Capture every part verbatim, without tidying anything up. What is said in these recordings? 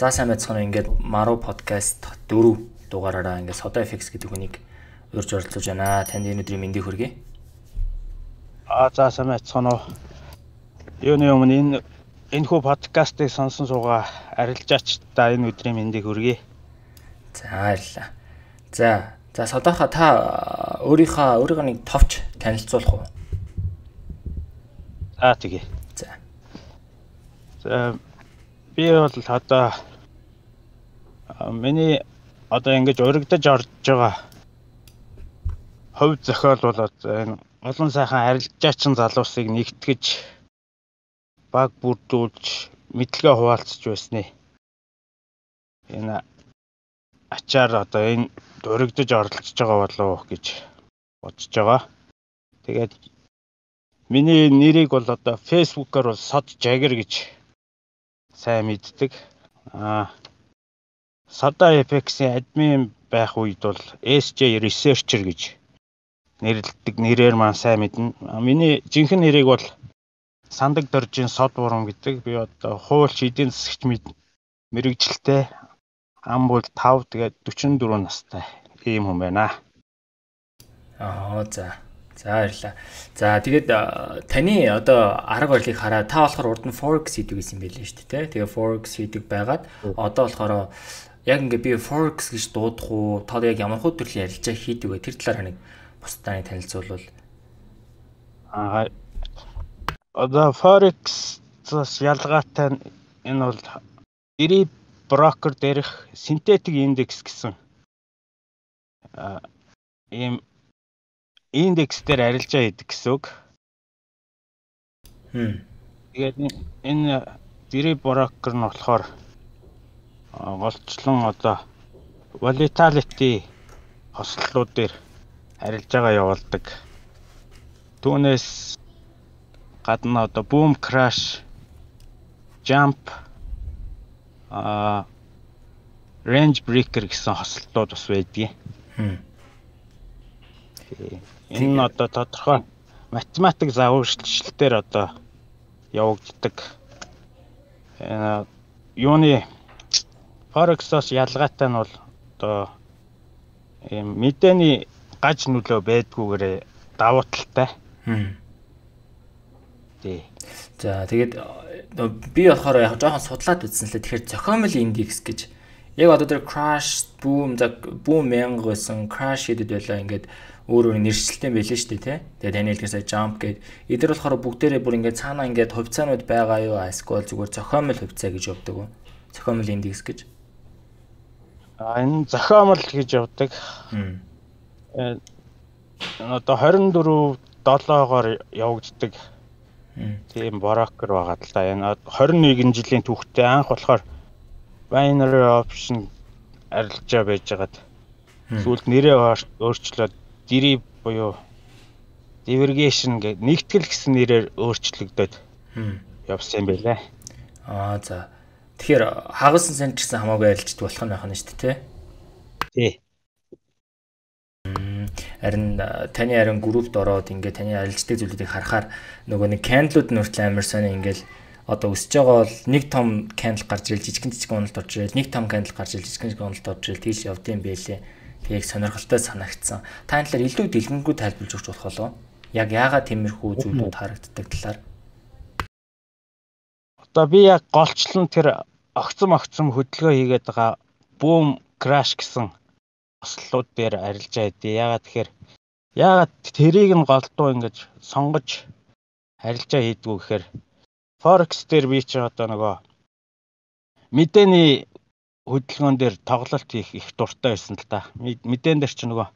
За сайн байцгаана ингээд Maru podcast дөрөв дугаараараа ингээд Soda эф икс гэдэг хүнийг урьж оролцож байна. Танд энэ өдрийн мэндийг хүргэе. Аа за сайн байцгаана уу. Юуны өмнө энэ энэ хүү подкастыг сонсон суугаа арилжаач та энэ өдрийн мэндийг хүргэе. За баярлалаа. За за Sodaха та өөрийнхөө өөрийгөө нэг товч танилцуулах уу? За тэгье. За. За би бол одоо миний одоо ингэж урагдаж орж байгаа хувь зохиол бол энэ олон сайхан арилжаачин залуусыг нэгтгэж баг бүрдүүлж мэдлэгээ хуваалцж байсны энэ ачаар одоо энэ урагдаж оролцож байгаа болов гэж бодож байгаа. Тэгээд миний нэрийг бол одоо Facebook-оор бол Sod Jagger гэж сайн мэддэг. Аа Soda эф икс-ийн админ байх үед бол эс джей Researcher гэж нэрлэдэг нэрээр маань сайн мэднэ. Миний жинхэнэ нэрийг бол Сандаг Доржийн Сод Бурам гэдэг. Би одоо хуульч эдийн засагч мэрэгжилтэй ам бол тав тэгээд дөрвөн дөрвөн настай ийм хүн байна. Аа за. За баярлалаа. За тэгээд таны одоо арга барилыг хараад та болохоор урд нь Forex хийдэг гэсэн байлээ шүү дээ. Тэгээ Forex хийдэг байгаад одоо болохоор яг ингээ би Forex гэж дуудах уу? Та яг ямар хөө төрлийн ярилцаа хийдэг вэ? Тэр талаар нэг бусдаа танилцуулбал. Аа одоо Forex-с ялгаатай энэ бол Derivative broker дээрх синтетик индекс гэсэн аа ийм индекс дээр арилжаа хийдэг гэсэн үг. Хм. Тэгээд энэ Derivative broker нь болохоор голчлон одоо volatility хослолууд дээр арилжаагаа явуулдаг. Түүнээс гадна одоо boom crash, jump, а range breaker гэсэн хослолууд бас байдгийг. Хм. Энэ одоо тодорхой математик загварчлалтээр одоо явагддаг. Э юуны Forex-оос ялгаатай нь бол одоо ийм мэдээний гаж нөлөө байдгүйгээр давуу талтай. Хм. Тий. За тэгээд би болохоор яг жоохон судлаад үзсэн лээ. Тэгэхээр зохиомл индекс гэж яг одоо тэр crash, boom, за boom мянга байсан, crash гэдэг байлаа ингээд өөр өөр нэршилтэй байлээ шүү дээ, тий. Тэгээд таны хэлдгээр сая jump гэдэг. Эдгээр болохоор бүгдээрээ бүр ингээд цаанаа ингээд хувьцаанууд байгаа юу? Эсвэл зүгээр зохиомл хувьцаа гэж явдаг уу? Зохиомл индекс гэж. А энэ зохиомл гэж явдаг. Хм. Э одоо двадцать дөрвөн долоогоор явагддаг. Тийм брокер байгаа л да. Энэ двадцать нэгэн жилийн түүхтэй анх болохоор binary option арилжаа байжгаад сүүлд нэрээ өөрчлөөд deriv буюу divergation гэх нэгтгэл гэсэн нэрээр өөрчлөгдөд явсан юм байлаа. Аа за. Тэгэхээр хагасан сан ч гэсэн хамаагүй арилждаг болох нь байх нь шүү дээ, тий. Харин таны харин группт ороод ингээд таны арилждаг зүйлүүдийг харахаар нөгөө нэг candle-ууд нь хүртэл амар сони ингээд одоо өсөж байгаа бол нэг том candle гарч ирэл жижигэн жижигэн уналт орж ирэл нэг том candle гарч ирэл жижигэн жижигэн уналт орж ирэл тийш явдсан байлээ. Тэг сонирхолтой санагдсан. Та энэ талаар илүү дэлгэнгүй тайлбарлаж өгч болох болов? Яг яагаад тиймэрхүү зүйлүүд харагддаг талаар? Одоо би яг голчлон тэр огцом огцом хөдөлгөөн хийгээд байгаа boom crash гэсэн хослолууд дээр арилжаа хийдэ. Яагаад тэгэхээр яагаад тэрийг нь голдуу ингэж сонгож арилжаа хийдгүү гэхээр Forex дээр би чи одоо нөгөө мэдээний хөдөлгөөн дээр тоглолт хийх их дуртай байсан л да. Мэдэн дээр чи нөгөө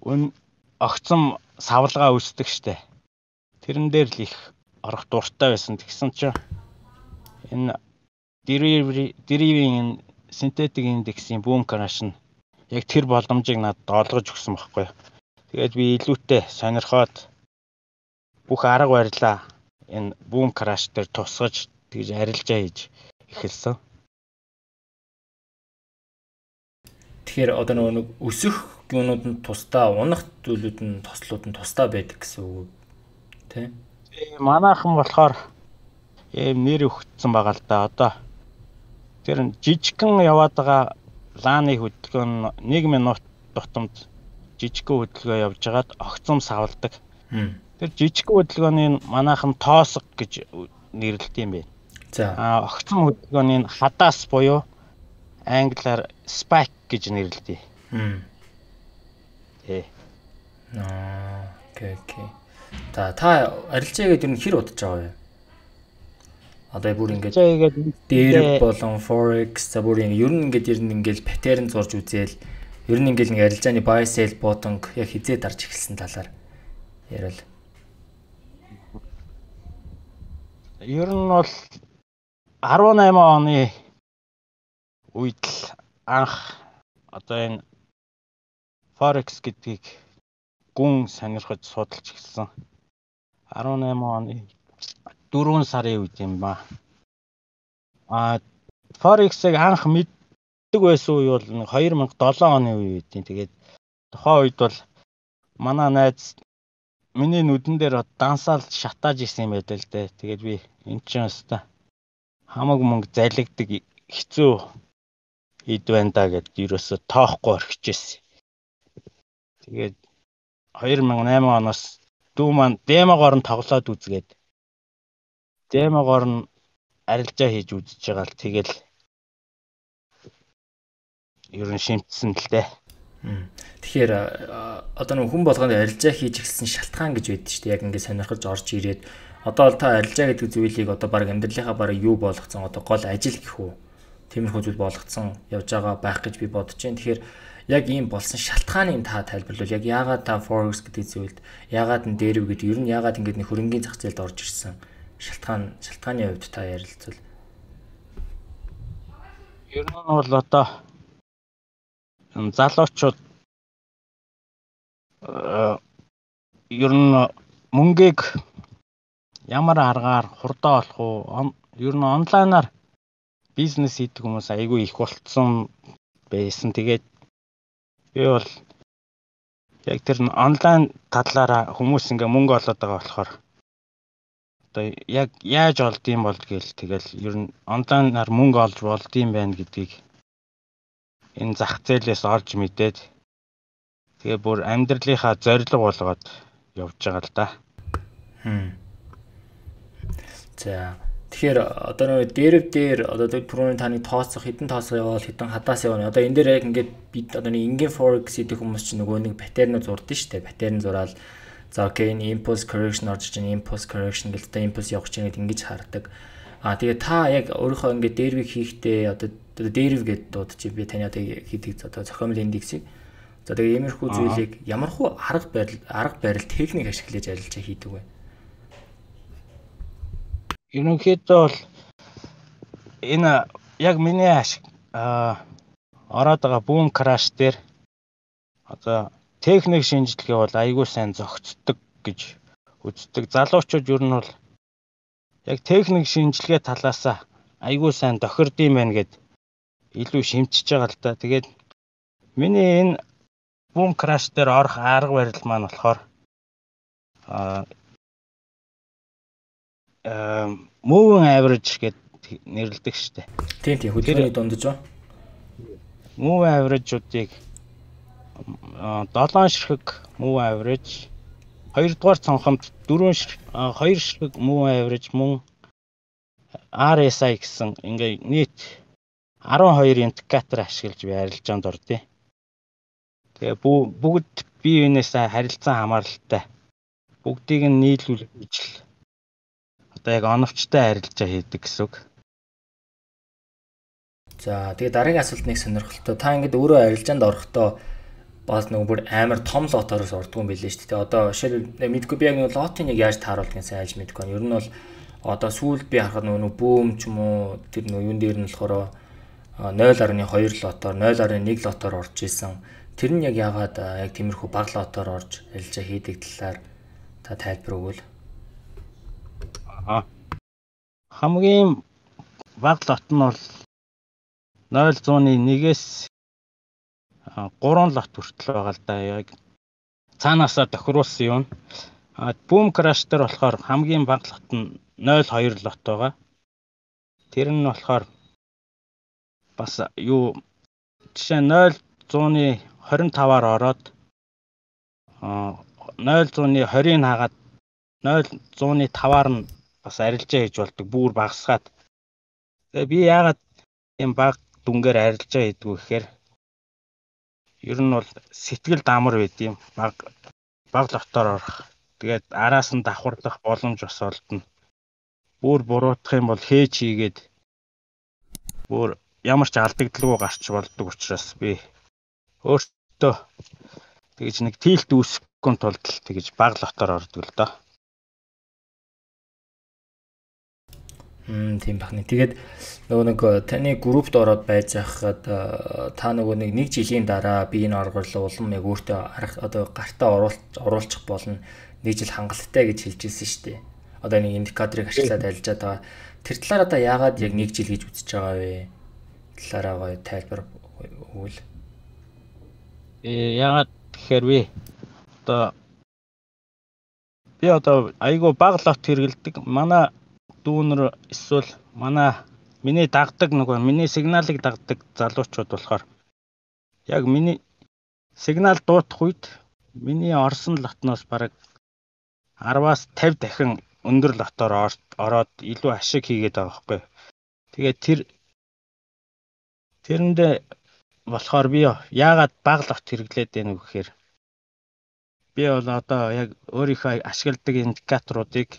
өн огцом савлгаа үүсдэг штэ. Тэрэн дээр л их орох дуртай байсан. Тэгсэн чи энэ derivative synthetic индексийн boom crash нь яг тэр боломжийг надад олгож өгсөн байхгүй. Тэгээд би илүүтэй сонирхоод бүх арга барилаа энэ boom crash дээр тусгаж тэгж арилжаа хийж эхэлсэн. Тэгэхээр одоо нөгөө өсөх юмнууд нь тусдаа, унах зүйлүүд нь тослууд нь тусдаа байдаг гэсэн үг тий? Манайхан болохоор ийм нэр өгсөн байгаа л да. Одоо Тэр жижигхэн яваад байгаа лааны хөдөлгөөн нь нэг минут тутамд жижигхэн хөдөлгөөн явж хагаад огцом савладаг. Тэр жижигхэн хөдөлгөөний манайхан тоосго гэж нэрлэдэг юм байна. За. А огцом хөдөлгөөний хадаас буюу англиар spike гэж нэрлэдэг. Хм. Э. Аа, окей, окей. Та та арилжаагээд ер нь хэр удаж байгаа вэ? Одоо бүр ингээд дээр болон forex за бүр ингээд ер нь ингээд ер нь ингээд паттерн зурж үзээл ер нь ингээд нэг арилжааны buy sell bottom яг хизээ дарж эхэлсэн талаар ярил. Ер нь бол арван найман оны үед л анх одоо энэ forex гэдгийг гүн сонирхож судалж эхэлсэн. арван найман оны дөрвөн сарын үед юм ба. А forex-ыг анх мэддэг байсан үе бол хоёр мянга и долоо оны үе үдийн. Тэгээд тухайн үед бол манай найз миний нүдэн дээр дансаал шатааж исэн юм байлаа л дээ. Тэгээд би энэ ч юмста хамаг мөнгө залгидаг хэцүү ид байна да гэд ерөөсө тоохгүй орхижсэн. Тэгээд хоёр мянга и найман оноос дүү маань демогоор нь тоглоод үзгээд демогоор нь арилжаа хийж үзэж байгаа л тэгэл ер нь шимтсэн л дээ. Тэгэхээр одоо нэг хүн болгонд арилжаа хийж эхэлсэн шалтгаан гэж байдаг шүү дээ. Яг ингээд сонирхож орж ирээд одоо л та арилжаа гэдэг зүйлийг одоо баг амьдралынхаа бараг юу болгоцсон одоо гол ажил гэх үү. Тиймэрхүү зүйл болгоцсон явж байгаа байх гэж би бодож байна. Тэгэхээр яг ийм болсон шалтгааныг та тайлбарлавал яг яагаад та forex гэдэг зүйлд яагаад н дээрв гэдэг ер нь яагаад ингээд нэг хөрөнгөний зах зээлд орж ирсэн шалтгаан шалтгааны хувьд та ярилцвал. Ер нь бол одоо залуучууд ер нь мөнгийг ямар аргаар хурдан олох уу? Ер нь онлайнаар бизнес хийдэг хүмүүс айгүй их болцсон байсан. Тэгээд би бол яг тэр онлайн талаараа хүмүүс ингээ мөнгө олоод байгаа болохоор одоо яг яаж олдсон бол гээл тэгэл ер нь онлайнаар мөнгө олж болдсон байна гэдгийг энэ зах зээлээс олж мэдээд тэгээ бүр амьдралынхаа зорилго болгоод явж байгаа л да. Хм. За тэгэхээр одоо нэг дээрв дээр одоо түрүүний таны тооцох хэдэн тооцоо яваал хэдэн хадаас явна. Одоо энэ дээр яг ингээд бид одоо нэг ингийн forex гэдэг хүмүүс чинь нөгөө нэг паттерн зурдсан шүү дээ. Паттерн зураал за окей энэ impulse correction орж иж impulse correction гэдэг одоо impulse явах чинь ингэж хардаг. Аа тэгээ та яг өөрийнхөө ингээд дээрвийг хийхдээ одоо дээрв гэдэг дуудаж би таны одоо хийдэг одоо зохиомжлын индексийг за тэгээ иймэрхүү зүйлийг ямархуу арга барил арга барил техник ашиглаж арилжаа хийдэг вэ? Ерөнхийдөө бол энэ яг миний ашиг аа ороод байгаа boom crash дээр одоо техник шинжилгээ бол айгүй сайн зохицдог гэж үздэг. Залуучууд ер нь бол яг техник шинжилгээ талаасаа айгүй сайн тохирдсон байна гэд илүү шимтчихэж байгаа л да. Тэгээд миний энэ boom crash дээр орох арга барил маань болохоор аа moving average гэд нэрлэдэг штэ. Тийм тийм хөдөлгөөний дундаж ба. Moving average-уудыг долоон ширхэг moving average, хоёрдугаар цонхомд дөрвөн ширхэг, хоёр ширхэг moving average мөн ар эс ай гэсэн ингээ нийт арван хоёр индикатор ашиглаж би арилжаанд ордё. Тэгээ бүгд бие биенээсээ харилцан хамааралтай. Бүгдийг нь нийлүүлж л одоо яг оновчтой арилжаа хийдэг гэсэн үг. За тэгээ дараагийн асуулт нэг сонирхолтой. Та ингэдэ өөрөө арилжаанд орохдоо бас нөгөө бүр амар том лотороос ордгоо юм билээ шүү дээ. Одоо жишээл мэдгүй би яг нөгөө лотын яг яаж тааруулдгийг сайн айлж мэдгүй байна. Ер нь бол одоо сүүлд би харахад нөгөө бөөм ч юм уу тэр нөгөө юун дээр нь болохоор нуль гаруй хоёр лотоор нуль гаруй нэг лотоор орж исэн. Тэр нь яг яагаад яг тиймэрхүү баг лотоор орж арилжаа хийдэг талаар та тайлбар өгвөл. Аа. Хамгийн баг лот нь бол нуль зууны нэгээс гурван лот хүртэл байгаа л да. Яг цаанаасаа тохируулсан юм. А boom crash дээр болохоор хамгийн баг лот нь нуль хоёр лот байгаа. Тэр нь болохоор бас юу жишээ нөл зууны двадцать таваар ороод нөл зууны двадцать хагаад нөл зууны таваар нь бас арилжаа хийж болдог бүр багасгаад. Тэгээ би яагаад юм баг дүнгээр арилжаа хийдгүү гэхээр ер нь бол сэтгэл дамар байд юм баг баг лотоор орох. Тэгээд араас нь давхарлах боломж бас олдно. Бүр буруутах юм бол хээж хийгээд бүр ямар ч алдагдлгүй гарч болдог учраас би өөртөө тэгж нэг тийлт үүсгэхгүй тулд тэгж баг лотоор ордог л доо. Хм тийм бахны. Тэгээд нөгөө нэг таны группт ороод байж байхад та нөгөө нэг нэг жилийн дараа би энэ оргорлоо улам яг өөртөө арга одоо гартаа оруулж оруулчих болно. Нэг жил хангалттай гэж хэлж ирсэн шүү дээ. Одоо нэг индикаторыг ашиглаад арилжаад байгаа. Тэр талаар одоо яагаад яг нэг жил гэж үзэж байгаа вэ? Талаараа гоё тайлбар өгвөл. Э яагаад тэгэхээр би одоо би одоо айгүй баг лот хэрэгэлдэг. Манай дүүнэр эсвэл манай миний дагдаг нөгөө миний сигналыг дагдаг залуучууд болохоор яг миний сигнал дуутах үед миний орсон лотноос бараг араваас тавь дахин өндөр лотоор ороод илүү ашиг хийгээд байгаа байхгүй. Тэгээд тэр тэрэндээ болохоор би яагаад баг лот хэрэглээд байна вэ гэхээр би бол одоо яг өөрийнхөө ашигладаг индикаторуудыг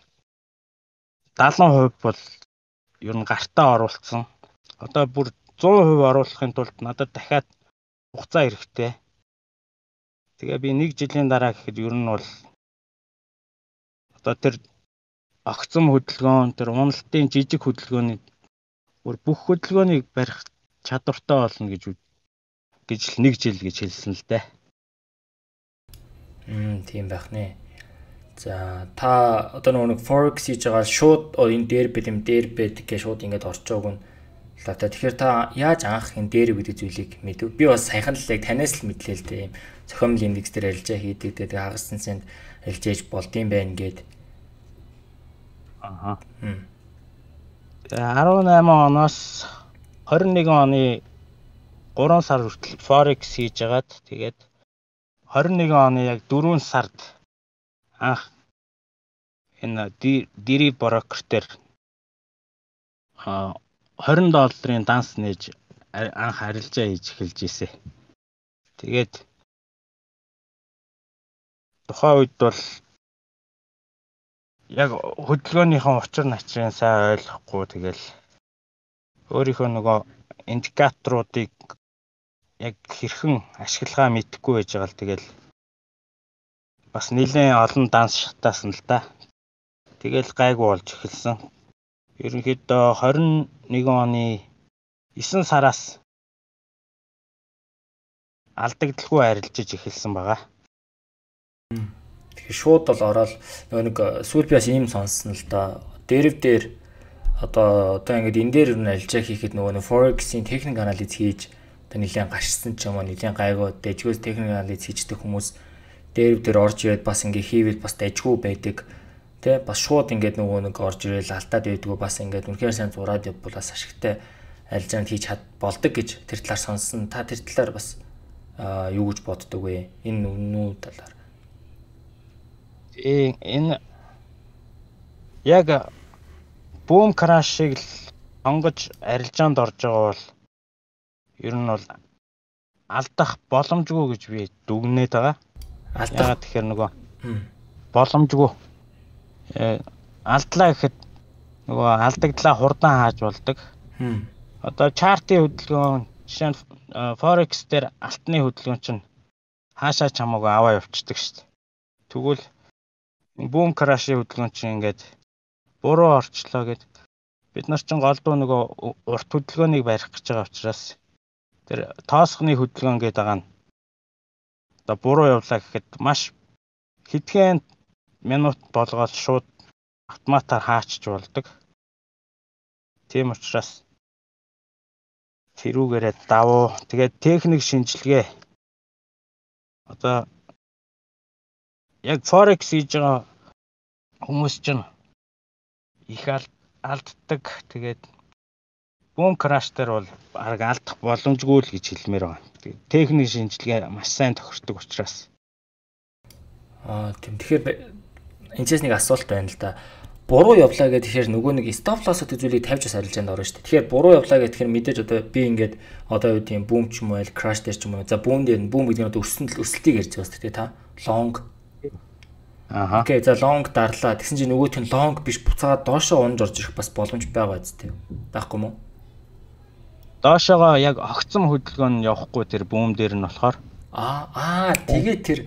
далайн хувь бол ер нь гартаа оруулсан. Одоо бүр сто хувь оруулахын тулд надад дахиад хугацаа хэрэгтэй. Тэгээ би нэг жилийн дараа гэхэд ер нь бол одоо тэр огцом хөдөлгөөн, тэр уналтын жижиг хөдөлгөөний бүр бүх хөдөлгөөнийг барих чадвартай болно гэж гэж л нэг жил гэж хэлсэн л дээ. Мм тийм байх нэ. За та одоо нөгөө нэг forex хийж байгаа шууд энэ дээр бэлэм дээр бэд гэж шууд ингэж орчоог нь л та. Тэгэхээр та яаж анх энэ дээр гэдэг зүйлийг мэдв? Би бас саяхан л яг танаас л мэдлээ л дээ. Ийм зохиомжлын индекс дээр арилжаа хийдэг. Тэгээ хагассан санд арилжааж болдсон байх гээд. Аа. дөрвөн оноос двадцать нэг оны гурван сар хүртэл forex хийж агаад тэгээд двадцать нэг оны яг дөрвөн сард анх энэ дири брокер дээр двадцать долларын данс нээж анх арилжаа хийж эхэлж ийсэ. Тэгээд тухайн үед бол яг хөдөлгөөнийхэн учир начрын сайн ойлгохгүй тэгэл өөрийнхөө нөгөө индикаторуудыг яг хэрхэн ашиглахаа мэдэхгүй байж байгаа л тэгэл бас нэлээд олон данс шатаасан л да. Тэгэл гайгүй болж эхэлсэн. Ерөнхийдөө двадцать нэг оны девять сараас алдагдaltaгүй арилжиж эхэлсэн байгаа. Тэгэхээр шууд бол ороод нөгөө нэг сүүл би бас ийм сонссон л да. Дэрв дээр одоо одоо ингээд энэ дээр нь арилжаа хийхэд нөгөө нэг forex-ийн техник анализ хийж одоо нэлээд гарчсан ч юм уу нэлээд гайгүй дэжгөөс техник анализ хийждэг хүмүүс дэрв дээр орж ирээд бас ингээд хийвэл бас дайжгүй байдаг. Тэ бас шууд ингээд нөгөө нэг орж ирээл алдаад байдгүй бас ингээд үнэхээр сайн зураад явбал бас ашигтай арилжаанд хийж чад болдог гэж тэр талаар сонссон. Та тэр талаар бас юу гэж боддог вэ? Энэ үнэн үү талаар? Э энэ яг бүүм крашыг л онгож арилжаанд орж байгаа бол ер нь бол алдах боломжгүй гэж би дүгнээд байгаа. Алдаа тэгэхээр нөгөө боломжгүй алдлаа гэхэд нөгөө алдагдлаа хурдан хааж болдог. Одоо чартын хөдөлгөөн жишээ нь forex дээр алтны хөдөлгөөн чинь хаашаа ч хамаагүй аваа явчихдаг шүү дээ. Тэгвэл бүүм крашийн хөдөлгөөн чинь ингээд буруу орчлоо гэд бид нар чинь голдуу нөгөө урт хөдөлгөөнийг барих гэж байгаа учраас тэр тоосхны хөдөлгөөн гэдэг байгаа нь одоо буруу явлаа гэхэд маш хэдхэн минут болгоод шууд автоматар хаачж болдог. Тийм учраас тэрүүгээрээ давуу тэгээд техник шинжилгээ одоо яг forex хийж байгаа хүмүүс чинь их алддаг. Тэгээд Boom Crash дээр бол арга алдах боломжгүй л гэж хэлмээр байгаа. Техник шинжилгээ маш сайн тохирдог учраас. Аа тийм. Тэгэхээр энэчээс нэг асуулт байна л да. Буруу явлаа гэдэг тэгэхээр нөгөө нэг stop loss гэдэг зүйлийг тавьж бас арилжаанд орно шүү дээ. Тэгэхээр буруу явлаа гэхээр мэдээж одоо би ингээд одоо юу тийм boom ч юм уу, crash дээр ч юм уу. За boom дээр boom гэдэг нь одоо өсөлт өсөлтийг ярьж байгаа шүү дээ та. Long. Ааха. Окей, за long дарлаа. Тэгсэн чинь нөгөөх нь long биш буцаад доошоо унж орж ирэх бас боломж байгаа зү. Байхгүй мó? Доошоогоо яг огцом хөдөлгөөн явахгүй тэр boom дээр нь болохоор аа аа тэгээд тэр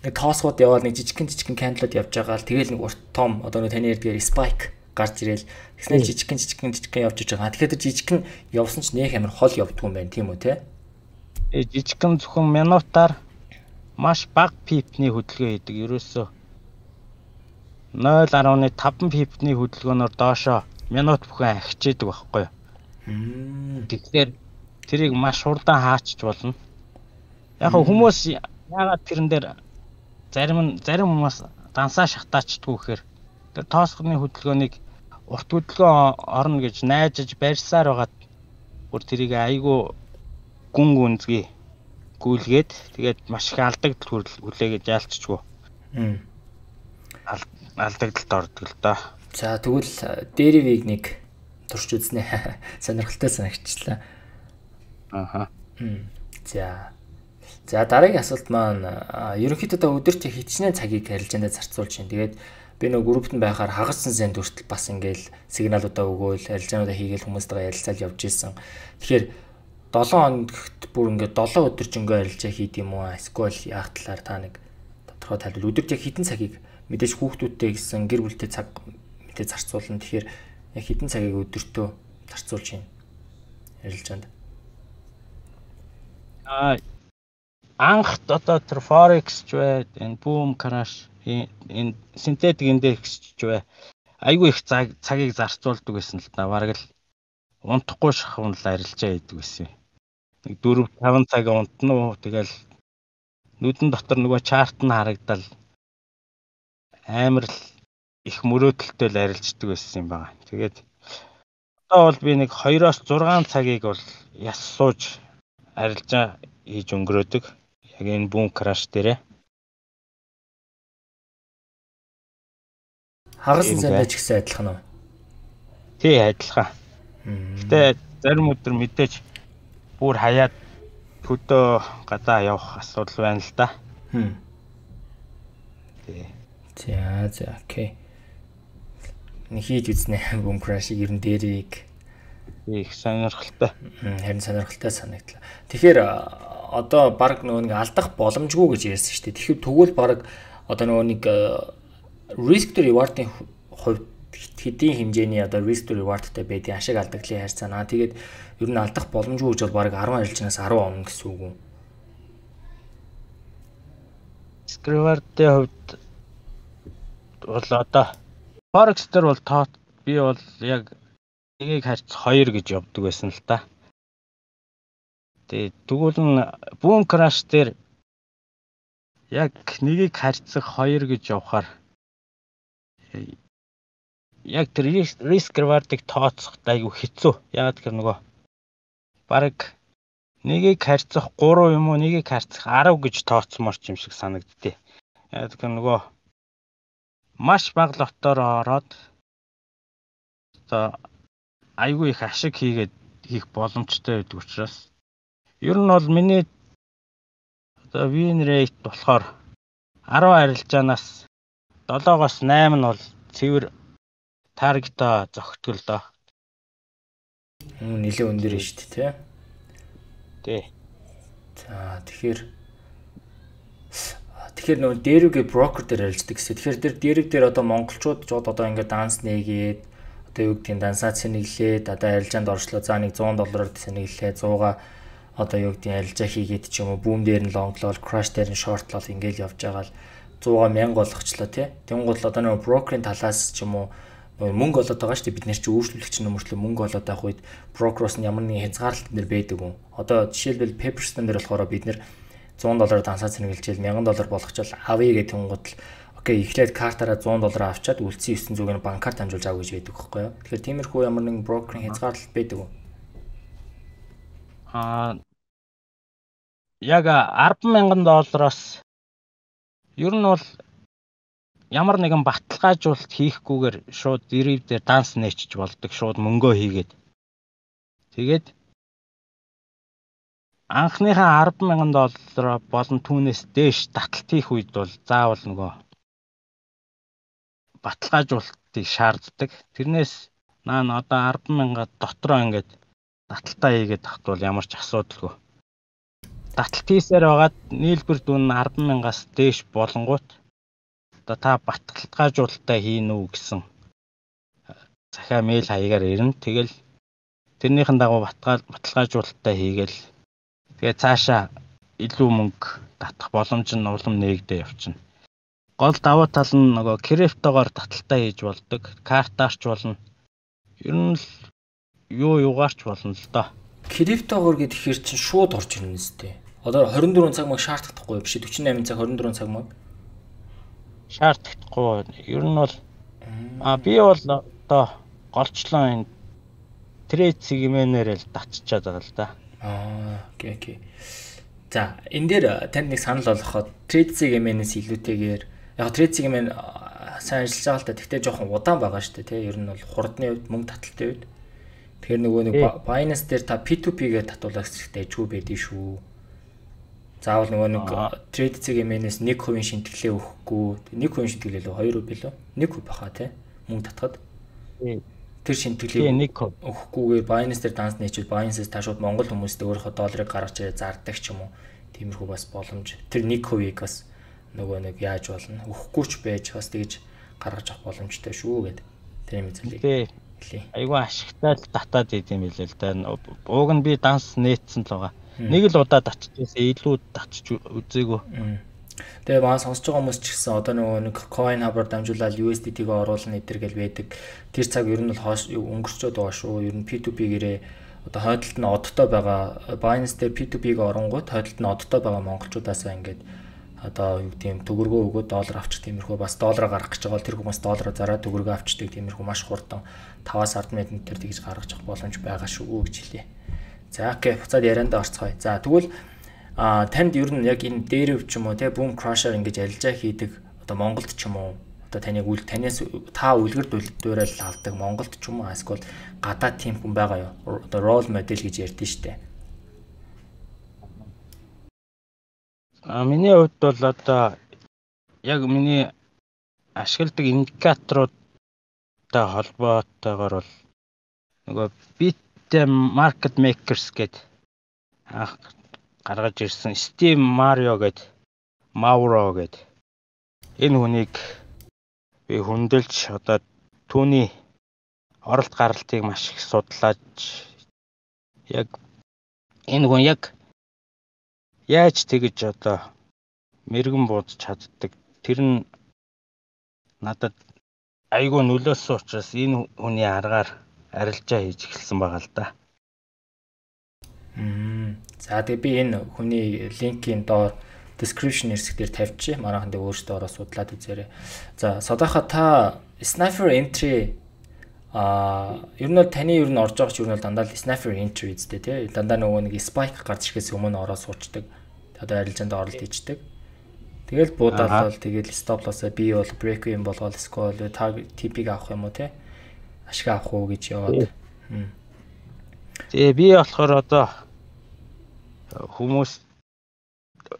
нэг тоосгууд яваад нэг жижигхэн жижигхэн кандалууд явж байгаа л тэгэл нэг урт том одоо нэг таны ярьдгээр spike гарч ирээл тэгснээр жижигхэн жижигхэн жижигхэн явж иж байгаа. Тэгэхээр тэр жижигхэн явсан ч нэх амар хол явдгүй юм байна тийм үү те? Э жижигхэн зөвхөн минутаар маш бага пипний хөдөлгөөн хийдэг. Ерөөсөө нуль гаруй таван пипний хөдөлгөөнөөр доошоо минут бүхэн ахичээдэг байхгүй юу? Тэгэхээр тэрийг маш хурдан хаачч болно. Яг хүмүүс яагаад тэрэн дээр зарим нь зарим хүмүүс дансаа шатаачдгүй гэхээр тэр тоосгоны хөдөлгөөнийг урт хөдөлгөөн орно гэж найжж барьсаар байгаад бүр тэрийг айгүй гүн гүнзгий гүйлгээд тэгээд маш их алдагдал хүлээгээд яалцчихгүй. Алдагдалд ордог л доо. За тэгвэл Derivative нэг турш үзнэ. Сонирхолтой санагчлаа. Ааха. За. За дараагийн асуулт маань ерөнхийдөө өдөрт хичнээн цагийг харилцаанд зарцуулж байна. Тэгээд би нөгөө группт нь байхаар хагассан зэнд хүртэл бас ингээл сигналуудаа өгөөл, харилцаануудаа хийгээл хүмүүстэйгээ ярилцаал явж исэн. Тэгэхээр долоон хоногт бүр ингээд долоон өдөржингөө харилцаа хийд юм уу? Эсвэл яах талаар та нэг тодорхой тайлбар. Өдөрт яг хэдэн цагийг мэдээж хүүхдүүдтэй гэсэн гэр бүлтэй цаг мэдээ зарцуулна. Тэгэхээр яг хэдэн цагийг өдөртөө зарцуулж байна ярилцаанд. Аа анх одоо тэр forex ч бай, энэ boom crash, энэ synthetic index ч бай. Айгүй их цагийг зарцуулдаг гэсэн л та. Бараг л унтахгүй шахавн л арилжаа хийдэг гэсэн. Нэг дөрөв таван цаг унтна уу. Тэгэл нүдэн дотор нөгөө чарт нь харагдал амар л их мөрөөдөлтэй л арилждаг байсан юм байна. Тэгээд одоо бол би нэг хоёроос зургаан цагийг бол яс сууж арилжаа хийж өнгөрөөдөг. Яг энэ boom crash дээрээ. Хагас зэндээ ч гэсэн адилхан уу? Тий, адилхан. Гэтэ зарим өдөр мэдээж бүр хаяад хөдөө гадаа явах асуудал байна л да. Хм. Тий. За за окей. Нэг хийж үзнэ boom crash-ийг ер нь дээрийг их сонирхолтой. Харин сонирхолтой санагдлаа. Тэгэхээр одоо баг нөгөө нэг алдах боломжгүй гэж ярьсан шүү дээ. Тэгэхээр тэгвэл баг одоо нөгөө нэг risk to reward-ийн хувьд хэдийн хэмжээний одоо risk to reward-тай байдгийн ашиг алдагдлын харьцаанаа. Тэгээд ер нь алдах боломжгүй гэж бол баг десять арилжнаас десять он гэсэн үг үү? Risk reward-ийн хувьд бол одоо forex дээр бол тоо би бол яг нэгийг харьц хоёр гэж явдаг байсан л та. Тэгээд тэгвэл нь boom crash дээр яг нэгийг харьцах хоёр гэж явахаар яг тэр risk reward-ыг тооцох айгүй хэцүү. Ягаад гэхээр нөгөө баг нэгийг харьцах гурав юм уу, нэгийг харьцах десять гэж тооцмоор ч юм шиг санагддээ. Ягаад гэхээр нөгөө маш бага лотоор ороод одоо айгүй их ашиг хийгээд хийх боломжтой байдаг учраас ер нь бол миний одоо win rate болохоор десять арилжаанаас седемоос восемь нь бол цэвэр таргетаа зогтгол доо. Нилээ өндөр нь шүү дээ, тий. За тэгэхээр тэгэхээр нөгөө дээрвгээ брокер дээр арилждаг гэсэн. Тэгэхээр тэр дээрв дээр одоо монголчууд жод одоо ингээд данс нээгээд одоо юу гэдгийг дансаа цэнэглээд одоо арилжаанд оршлоо. За нэг сто доллараар цэнэглээ, сто-га одоо юу гэдгийг арилжаа хийгээд ч юм уу бүүм дээр нь лонглол, crash дээр нь shortlол ингээл явж байгаа л сто мянга болгочлоо тий. Тэнгуул одоо нөгөө брокерийн талаас ч юм уу мөнгө олоод байгаа шүү дээ. Бид нэр чи өөрчлөлөгч нөмөртлөө мөнгө олоод байх үед брокероос нь ямар нэгэн хязгаарлалт нэр байдаг юм. Одоо жишээлбэл Pepperstone дээр болохоор бид нэр сто доллараар дансаа цэнэглэжэл мянган доллар болгочвол авъя гэх тэнгуут л окей эхлээд картаараа сто доллар авчаад үлдсэн ертөнцийн зүг нь банкар дамжуулж авах гэж байдаг байхгүй юу. Тэгэхээр тиймэрхүү ямар нэгэн брокерийн хязгаарлалт байдаг уу? Аа яг арван мянган доллароос ер нь бол ямар нэгэн баталгаажуулалт хийхгүйгээр шууд дерив дээр данс нээчих болдог, шууд мөнгөө хийгээд. Тэгээд анхныхаа арван мянган доллараа болон түүнээс дээш таталт хийх үед бол заавал нөгөө баталгаажуулалтыг шаарддаг. Тэрнээс наа одоо арван мянга дотроо ингээд таталтаа хийгээд тахт бол ямар ч асуудалгүй. Таталт хийсээр байгаад нийлбэр дүн арван мянгаас дээш болонгууд одоо та баталгаажуулалтаа хийн үү гэсэн захиа мэйл хаягаар ирнэ. Тэгэл тэрнийхэн дагуу баталгаажуулалтаа хийгээл тэгээ цаашаа илүү мөнгө татах боломж нь улам нээгдээ явчихна. Гол давуу тал нь нөгөө криптогоор таталтаа хийж болдог, картаарч болно. Ер нь л юу юугаарч болно л доо. Криптогоор гэхээр чинь шууд орж ирнэ үстэй. Одоо хорин дөрвөн цаг маяг шаардахгүй биш forty-eight цаг хорин дөрвөн цаг маяг шаардахгүй. Ер нь бол а би бол одоо голчлон энэ трейд сегментээр л татчихад байгаа л да. Аа, окей, окей. За, энэ дээр танд нэг санал болгоход трейд сегментээс илүүтэйгээр яг трейд сегмент сайн ажиллаж байгаа л да. Тэгтээ жоохон удаан байгаа шүү дээ, тий. Ер нь бол хурдны үед, мөнгө таталтын үед. Тэгэхээр нөгөө нэг Binance дээр та пи ту пи-гээр татуулах хэрэгтэй ч үү байдгийг шүү. Заавал нөгөө нэг трейд сегментээс one percent шинтгэлээ өгөхгүй. one percent шинтгэлээ л two percent билүү? one percent баха тий. Мөнгө татхад. Тэр шинтгэлээ өгөхгүйгээр Binance дээр данс нээчүүд Binance-ээс та шууд Монгол хүмүүстээ өөрийнхөө долларыг гаргаж ирээ зардаг ч юм уу. Тиймэрхүү бас боломж. Тэр one percent-ийг бас нөгөө нэг яаж болно? Өгөхгүй ч байж бас тэгж гаргаж авах боломжтой шүү гэд. Тэр юм зүйлийг хэлье. Айгүй ашигтай л татаад идэм билээ л да. Ууг нь би данс нээсэн л байгаа. Нэг л удаа татчихсан, илүү татчих үзээгүй. Тэгээ баа сонсож байгаа хүмүүс ч гэсэн одоо нөгөө нэг coin hub-аар дамжуулаад ю эс ди ти-г оруулна эдэр гэл байдаг. Тэр цаг ер нь бол хоош өнгөрчөөд байгаа шүү. Ер нь пи ту пи-гээрээ одоо хойдолд нь одтой байгаа Binance дээр пи ту пи-г оронгууд хойдолд нь одтой байгаа монголчуудаасаа ингээд одоо юу гэдэм төгрөгөө өгөөд доллар авчих тиймэрхүү бас доллараа гаргах гэж байгаа бол тэр хүмүүс доллараа зараад төгрөгөө авчдаг тиймэрхүү маш хурдан five-аас ten минут дээр тэгж гаргаж авах боломж байгаа шүү гэж хэлье. За окей, буцаад яриандаа орцгоё. За тэгвэл а танд ер нь яг энэ дээрв ч юм уу те boom crusher ингэж арилжаа хийдэг одоо Монголд ч юм уу одоо таныг үл танаас та үлгэр дуурайл авдаг Монголд ч юм уу эсвэл гадаад тим хүн байгаа юу? Одоо role model гэж ярьдэн штэ. А миний хувьд бол одоо яг миний ашигладаг индикаторуудтай холбоотойгоор бол нөгөө bit market makers гэдэг анх гаргаж ирсэн Steve Mario гэдэг Mauro гэдэг энэ хүнийг би хүндэлж одоо түүний оролт гаралтыг маш их судлаад яг энэ хүн яг яаж тэгэж одоо мэрэгэн буудаж чаддаг тэр нь надад айгүй нөлөөсөн учраас энэ хүний аргаар арилжаа хийж эхэлсэн байгаа л да. Мм. За тэгээ би энэ хүний линкийн доор description хэсгээр тавьчих. Манайхан дээр өөрсдөө ороо судлаад үзээрэй. За содоохо та sniper entry а ер нь таны ер нь орж байгаа ч ер нь дандаа л sniper entry үстэй тий. Дандаа нөгөө нэг spike гарч ирэхээс өмнө ороо суучдаг. Одоо арилжаанд оролт хийждэг. Тэгэл буудаал бол тэгэл stop loss-а би бол break юм болгоод scroll target ти пи-г авах юм уу тий. Ашиг авах уу гэж яваад. Тэгээ би болохоор одоо хүмүүс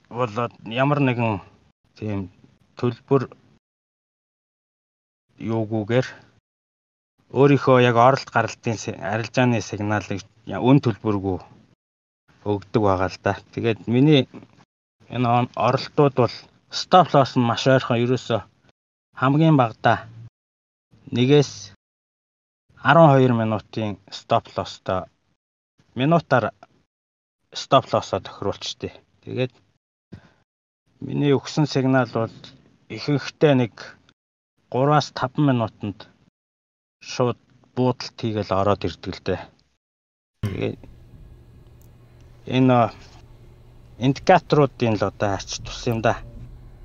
бол ямар нэгэн тийм төлбөр юугүйгээр өөрийнхөө яг оролт гаралтын арилжааны сигналыг өн төлбөргүй өгдөг байгаа л да. Тэгээд миний энэ оролтууд бол stop loss нь маш ойрхон ерөөсө хамгийн багадаа нэгээс twelve минутын stop loss-той минутаар stop loss-а тохируулчихдээ. Тэгээд миний өгсөн сигнал бол ихэнхдээ нэг three-аас five минутанд шууд буудалт хийгээл ороод ирдэг л дээ. Тэгээд энэ индикаторуудын л одоо ач тус юм да.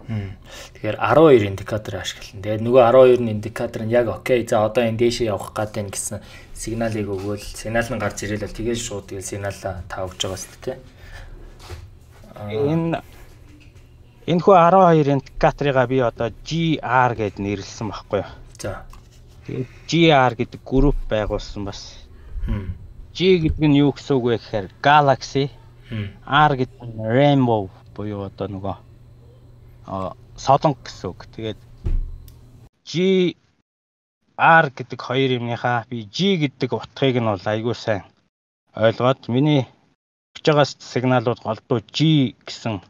Тэгэхээр арван хоёр индикатор ашиглана. Тэгээд нөгөө арван хоёр индикатор нь яг окей. За одоо энэ дээшээ явах гад байна гэсэн сигналыг өгвөл сигнал нь гарч ирэл тэгэл шууд тэгэл сигналаа та өгж байгаа шүү дээ. Энэ энэ хүү арван хоёр индикаторыгаа би одоо G R гэд нэрлсэн байхгүй юу? За. Тэгээд G R гэдэг групп байгуулсан бас. G гэдэг нь юу гэсэн үг вэ гэхээр Galaxy. R гэдэг нь Rainbow буюу одоо нөгөө а солонго гэсэн үг. Тэгээд G R гэдэг хоёр юмныхаа би G гэдэг утгыг нь бол айгүй сайн ойлгоод миний өгч байгаа сигналууд голдуу G гэсэн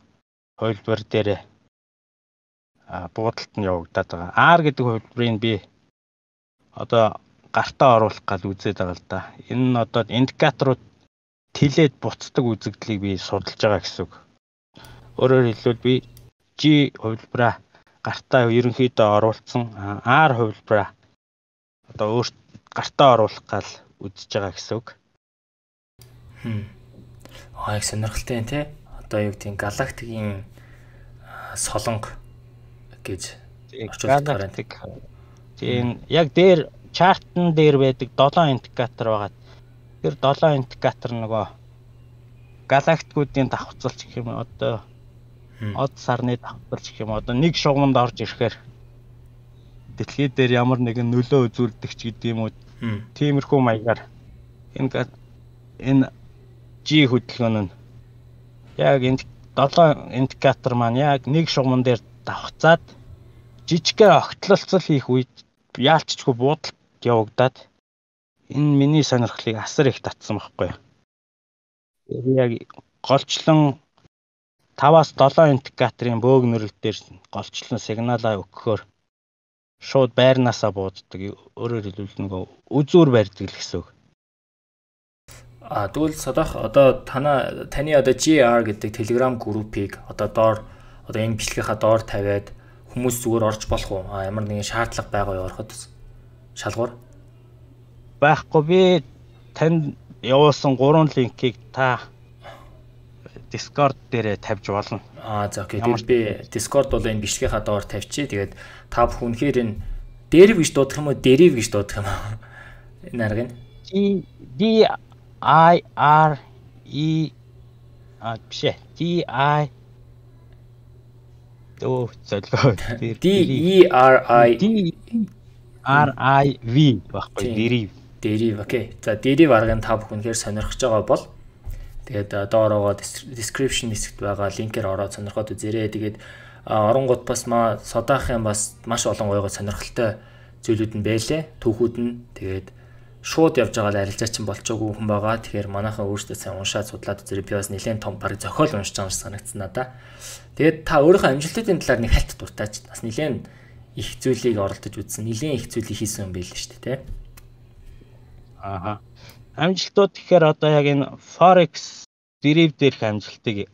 хувилбар дээр а буудалд нь явагдаад байгаа. R гэдэг хувилбарыг би одоо гартаа оруулах гал үзээд байгаа л да. Энэ нь одоо индикаторууд тэлээд буцдаг үзэгдлийг би судалж байгаа гэсэн үг. Өөрөөр хэлбэл би G хувилбараа гартаа ерөнхийдөө оруулсан, R хувилбараа одоо өөрт гартаа оруулах гал үзэж байгаа гэсэн үг. Хм. Аа их сонирхолтой юм тий. Одоо юу гэдэг галактикийн солонго гэж орчуулдаг галактик. Тийм яг дээр чартн дээр байдаг долоон индикатор байгаа. Тэр долоон индикатор нөгөө галактикуудын давхцалч гэх юм одоо од сарны давхцалч гэх юм одоо нэг шугамд орж ирэхээр дэлхий дээр ямар нэгэн нөлөө үзүүлдэг ч гэдэг юм уу. Тиймэрхүү маягаар энэ энэ G хөдөлгөөн нь яг энэ долоон индикатор маань яг нэг шугамн дээр давхцаад жижигхэн огтлолцол хийх үед яалтчгүй буудалд явагдаад энэ миний сонирхлыг асар их татсан байхгүй. Тэр яг голчлон таваас долоон индикаторын бөөгнөрөл дээр голчлон сигналаа өгөхөөр шууд байрнаасаа бууддаг. Өөрөөр хэлбэл нөгөө үзүүр барьдаг л гэсэн үг. А тэгвэл садах одоо тана таны одоо G R гэдэг Telegram группийг одоо доор одоо энэ бичлэгийнхаа доор тавиад хүмүүс зүгээр орж болох уу? А ямар нэгэн шаардлага байгаа юу ороход шалгуур байхгүй. Би танд явуулсан гурван линкийг та Discord дээрээ тавьж болно. Аа за окей. Тэгээд би Discord бол энэ бичлэгийнхаа доор тавьчих. Тэгээд та бүхэн үнэхээр энэ deriv гэж дуудах юм уу? Deriv гэж дуудах юм уу? Энэ арга нь D I R E а биш D I Дөө зөвлөө. D E R I R I V баггүй deriv. Deriv окей. За deriv аргыг та бүхэн үнэхээр сонирхож байгаа бол тэгээд доороо description хэсэгт байгаа линкээр ороод сонирхоод үзээрэй. Тэгээд оронгууд бас маа содахын бас маш олон гойгоо сонирхолтой зүйлүүд нь байлээ. Түүхүүд нь тэгээд шууд явж байгаа арилжаа чинь болчоогүй хүн байгаа. Тэгэхээр манайхаа өөрсдөө сайн уншаад судлаад үзээрэй. Би бас нэлээд том баг зохиол уншиж байгаа юм санагдсан надаа. Тэгээд та өөрийнхөө амжилтуудын талаар нэг хальт дуртаач. Бас нэлээд их зүйлийг оролдож үзсэн. Нэлээд их зүйлийг хийсэн юм байл л шүү дээ, тэ. Ааха. Амжилтууд гэхээр одоо яг энэ Forex deriv дээрх амжилтыг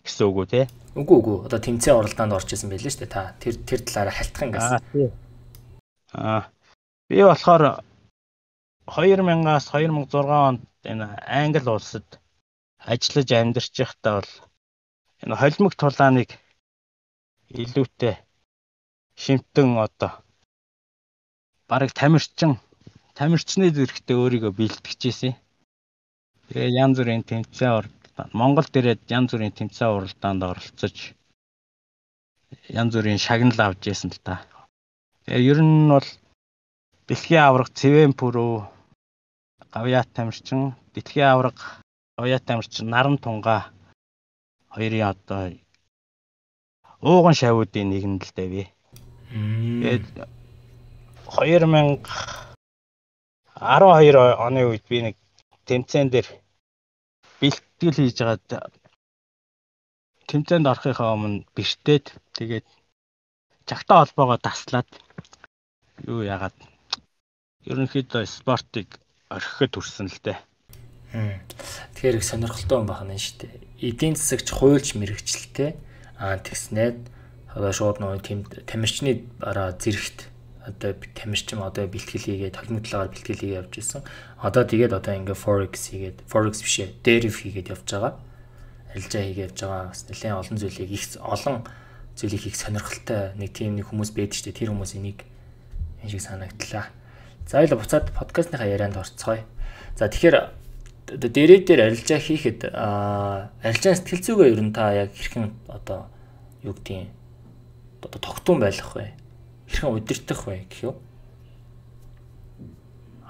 гэсэн үг үү, тэ? Үгүй үгүй. Одоо тэмцээн оролдоонд орж исэн байл л шүү дээ. Та тэр тэр талаараа хальтах ингээс. Аа. Би болохоор хоёр мянгаас хоёр мың зургаан онд энэ Англи улсад ажиллаж амьдарч байхдаа бол энэ холимог тулааныг илүүтэй шимтэн одоо бараг тамирчин тамирчны зэрэгтэй өөрийгөө бэлтгэжсэн. Тэгээ янз бүрийн тэмцээн оролдоод Монгол дээрээ янз бүрийн тэмцээн уралдаанд оролцож янз бүрийн шагнал авч ирсэн л та. Тэгээ ер нь бол дэлхийн аварга Цэвэн пүрүү гавьяат тамирчин, дэлхийн аварга гавьяат тамирчин Наран тунгаа хоёрын одоо ууган шавуудын нэгэнд л дээ би. Тэгээд хоёр мянга арван хоёр оны үед би нэг тэмцээн дээр бэлтгэл хийж байгаад тэмцээнд орохынхаа өмнө бэртээд тэгээд чагтаа холбоогоо таслаад юу яагаад ерөнхийдөө спортыг орхиход хүрсэн л дээ. Тэгэхээр их сонирхолтой юм байна шүү дээ. Эдийн засагч хуульч мэрэгчлээ. Аа тэгснээд одоо шууд нөгөө тамирчны бараа зэрэгт одоо тамирчин одоо бэлтгэл хийгээд толимтлаагаар бэлтгэл хийгээд явж исэн. Одоо тэгээд одоо ингээ forex хийгээд forex биш ээ deriv хийгээд явж байгаа. Арилжаа хийгээд явж байгаа. Бас нэлээд олон зүйлийг их олон зүйлийг хийх сонирхолтой нэг тийм нэг хүмүүс байдаг шүү дээ. Тэр хүмүүс энийг энэ шиг санагдлаа. За хоёул буцаад подкастныхаа ярианд орцгоё. За тэгэхээр дээрээ дээр арилжаа хийхэд арилжаа сэтгэл зүгээ ер нь та яг хэрхэн одоо юу гэдгийг одоо тогтун байх вэ? Хэрхэн удирдах вэ гэх юм?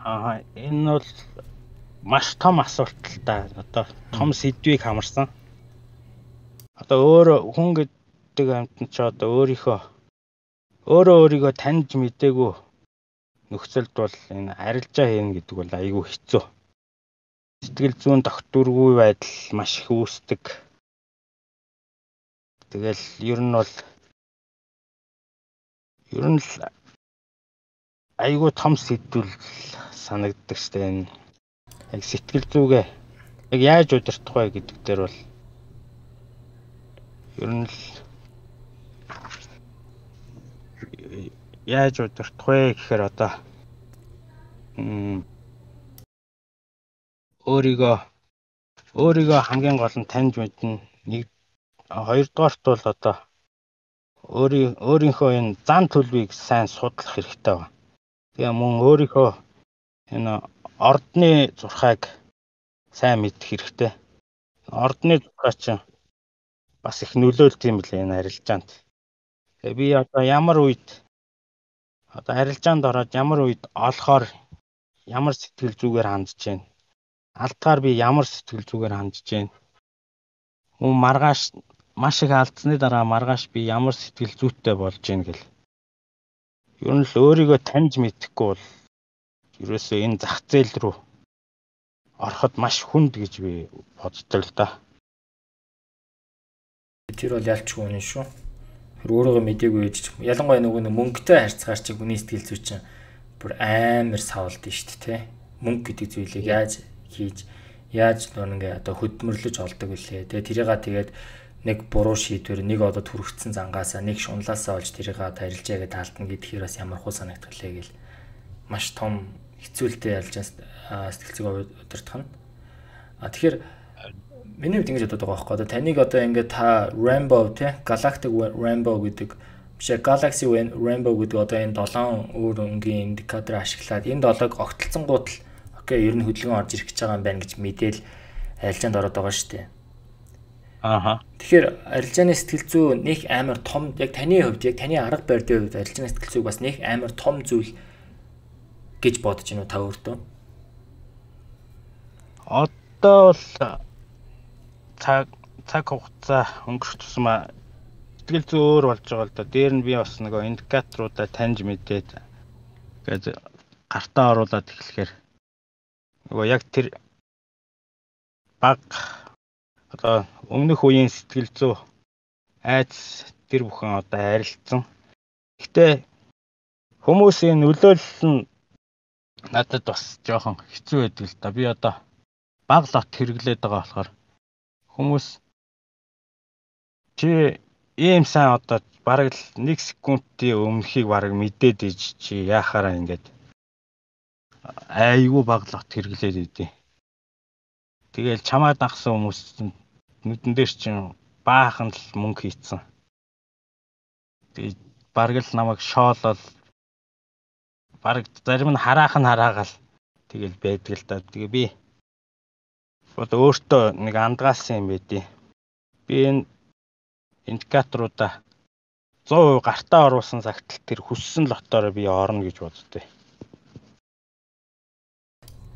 Аа энэ бол маш том асуулт л да. Одоо том сэдвийг хамарсан. Одоо өөр хүн гэдэг амьтан ч одоо өөрийнхөө өөрөө өөрийгөө таньж мэдээгүй нөхцөлд бол энэ арилжаа хийнэ гэдэг бол айгүй хэцүү. Сэтгэл зүйн тогтворгүй байдал маш их үүсдэг. Тэгэл ер нь бол ер нь л айгүй том сэдвүүл санагддаг штэ энэ. Яг сэтгэл зүгээ яг яаж удирдах вэ гэдэг дээр бол ер нь л яаж удирдах вэ гэхээр одоо өөрийгөө өөрийгөө хамгийн гол нь таньж мэднэ. Нэг хоёрдугаарт бол одоо өөрийн өөрийнхөө энэ зан төлөвийг сайн судлах хэрэгтэй байна. Тэгээ мөн өөрийнхөө энэ ордны зурхайг сайн мэдэх хэрэгтэй. Ордны зурхай чинь бас их нөлөөлт юм лээ энэ арилжаанд. Тэгээ би одоо ямар үед одоо арилжаанд ороод ямар үед олохоор ямар сэтгэл зүгээр хандж байна. Алдгаар би ямар сэтгэл зүгээр хандж байна. Мөн маргааш маш их алдсны дараа маргааш би ямар сэтгэл зүйтэй болж байна гэл. Ер нь л өөрийгөө таньж мэдэхгүй бол ерөөсөө энэ зах зээл рүү ороход маш хүнд гэж би боддог л да. Тэр бол ялчгүй үнэн шүү. Тэр өөрийгөө мэдээгүй ээж ч ялангуяа нөгөө мөнгөтэй харьцгаар чи хүний сэтгэл зүй чинь бүр амар савлдсан шүү дээ, тэ. Мөнгө гэдэг зүйлийг яаж хийж яаж нэг одоо хөдөлмөрлөж олдог вүлээ. Тэгээ тэрийга тэгээд нэг буруу шийдвэр нэг одоо түрэгцсэн зангаасаа нэг шунлаасаа олж тэрийга тарилжаа гэдээ таалтна гэдгээр бас ямар хуу санагдгалээ гэл маш том хэцүүлтэй ялж сэтгэл зүйн удирдах нь. А тэгэхээр миний хувьд ингэж боддог байгаа байхгүй. Одоо таныг одоо ингээд та Rainbow те Galactic Rainbow гэдэг биш Galaxy Rainbow гэдэг одоо энэ долоон өөр өнгийн индикатор ашиглаад энэ долоог огтлцсонгууд л окей ер нь хөдөлгөөн орж ирэх гэж байгаа юм байна гэж мэдээл арилжаанд ороод байгаа шүү дээ. Ааха. Тэгэхээр арилжааны сэтгэл зүй нэг амар том яг таны хувьд яг таны арга барилын хувьд арилжааны сэтгэл зүйг бас нэг амар том зүйл гэж бодож байна уу та өөртөө? Одоо бол цаг цаг хугацаа өнгөрөх тусмаа сэтгэл зүй өөр болж байгаа л да. Дээр нь би бас нөгөө индикаторуудаа таньж мэдээд гээд гартаа оруулаад эхлэхээр нөгөө яг тэр баг одоо өмнөх үеийн сэтгэл зүй айц тэр бүхэн одоо арилцсан. Гэхдээ хүмүүсийн нөлөөлөл нь надад бас жоохон хэцүү байдаг л да. Би одоо баг лот хэрэглээд байгаа болохоор хүмүүс чи ийм сайн одоо бараг л нэг секундын өмнөхийг бараг мэдээд иж чи яахаараа ингээд айгүй баг лот хэрэглээд идэв. Тэгэл чамаа дагсан хүмүүс нүдэн дээр чинь баахан л мөнгө хийцэн. Тэгээ бараг л намайг шоолол бараг зарим нь хараах нь хараагаал тэгэл байдаг л да. Тэгээ би одоо өөртөө нэг андгаасан юм байдیں۔ Би энэ индикаторуудаа сто процент гартаа оруулсан цагт тэр хүссэн лотоор би орно гэж боддтой.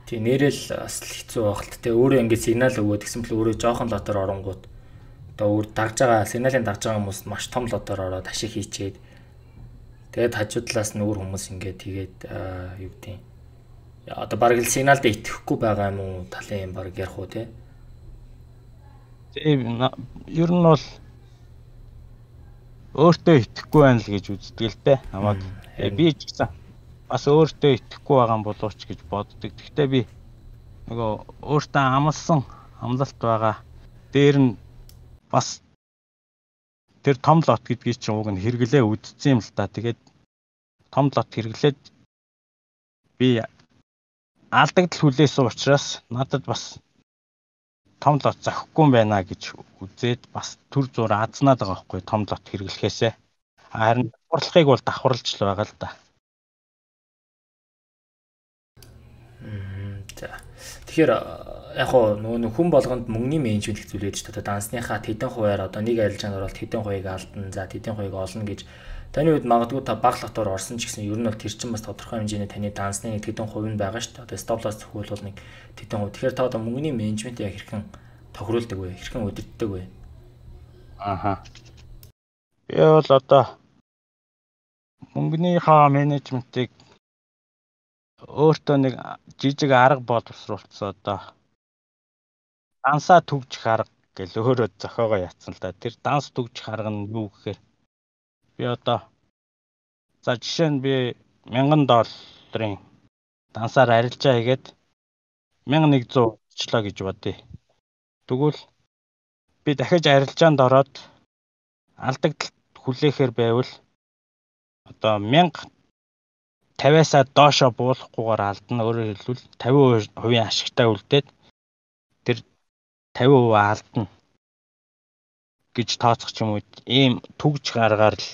Тэг нэрэл бас хэцүү багт те өөрөө ингээд сигнал өгөөд гэсэн бэл өөрөө жоохон лотоор оронгууд одоо өөр дагж байгаа сигналын дагж байгаа хүмүүс маш том лотоор ороод ашиг хийчээд тэгээд хажуу талаас нь өөр хүмүүс ингээд тэгээд юу гэдэг юм одоо бараг л сигналд итгэхгүй байгаа юм уу талын юм бараг ярих уу те. Тийм ер нь бол өөртөө итгэхгүй байна л гэж үздэг л дээ. Намайг би ч гэсэн бас өөртөө итгэхгүй байгаа юм болооч гэж боддог. Гэхдээ би нөгөө өөртөө амлсан амлалт байгаа. Дээр нь бас тэр том лот гэдгийг чинь уг нь хэрэглээ үдцсэн юм л та. Тэгээд том лот хэрэглээд би алдагдал хүлээсэн учраас надад бас том лот зохихгүй юм байна гэж үзээд бас төр зур азнаад байгаа байхгүй том лот хэрэглэхээсээ. Харин давхарлахыг бол давхарлаж л байгаа л да. За. Тэгэхээр яг хоо нөгөө хүн болгонд мөнгөний менежмент гэх зүйл ядаж та дансныхаа тэдэн хувиар одоо нэг арилжаанд ороод тэдэн хувийг алдна. За тэдэн хувийг олно гэж таны үед магадгүй та бага лотоор орсон ч гэсэн ер нь бол тэр чинь бас тодорхой хэмжээний таны дансны нэг тэдэн хувь нь байгаа шүү дээ. Одоо стоп лосс зөвхөн нэг тэдэн хувь. Тэгэхээр та одоо мөнгөний менежмент яг хэрхэн тохируулдаг вэ? Хэрхэн удирддаг вэ? Ааха. Би бол одоо мөнгөнийхөө менежментийг өөртөө нэг жижиг арга боловсруулсан одоо дансаа түгжих арга гэл өөрөө зохиогоо ятсан л да. Тэр данс түгжих арга нь юу гэхээр би одоо за жишээ нь би мянган долларын дансаар арилжаа хийгээд мянга нэгдүгээр очлоо гэж бодъё. Тэгвэл би дахиж арилжаанд ороод алдагдлалт хүлээхээр байвал одоо мянга тавиасаа доошоо буулахгүйгээр алдна. Өөрөөр хэлбэл тавин хувийн ашигтай үлдээд тэр тавин хувь алдна гэж тооцох юм уу? Ийм түгж гаргаар л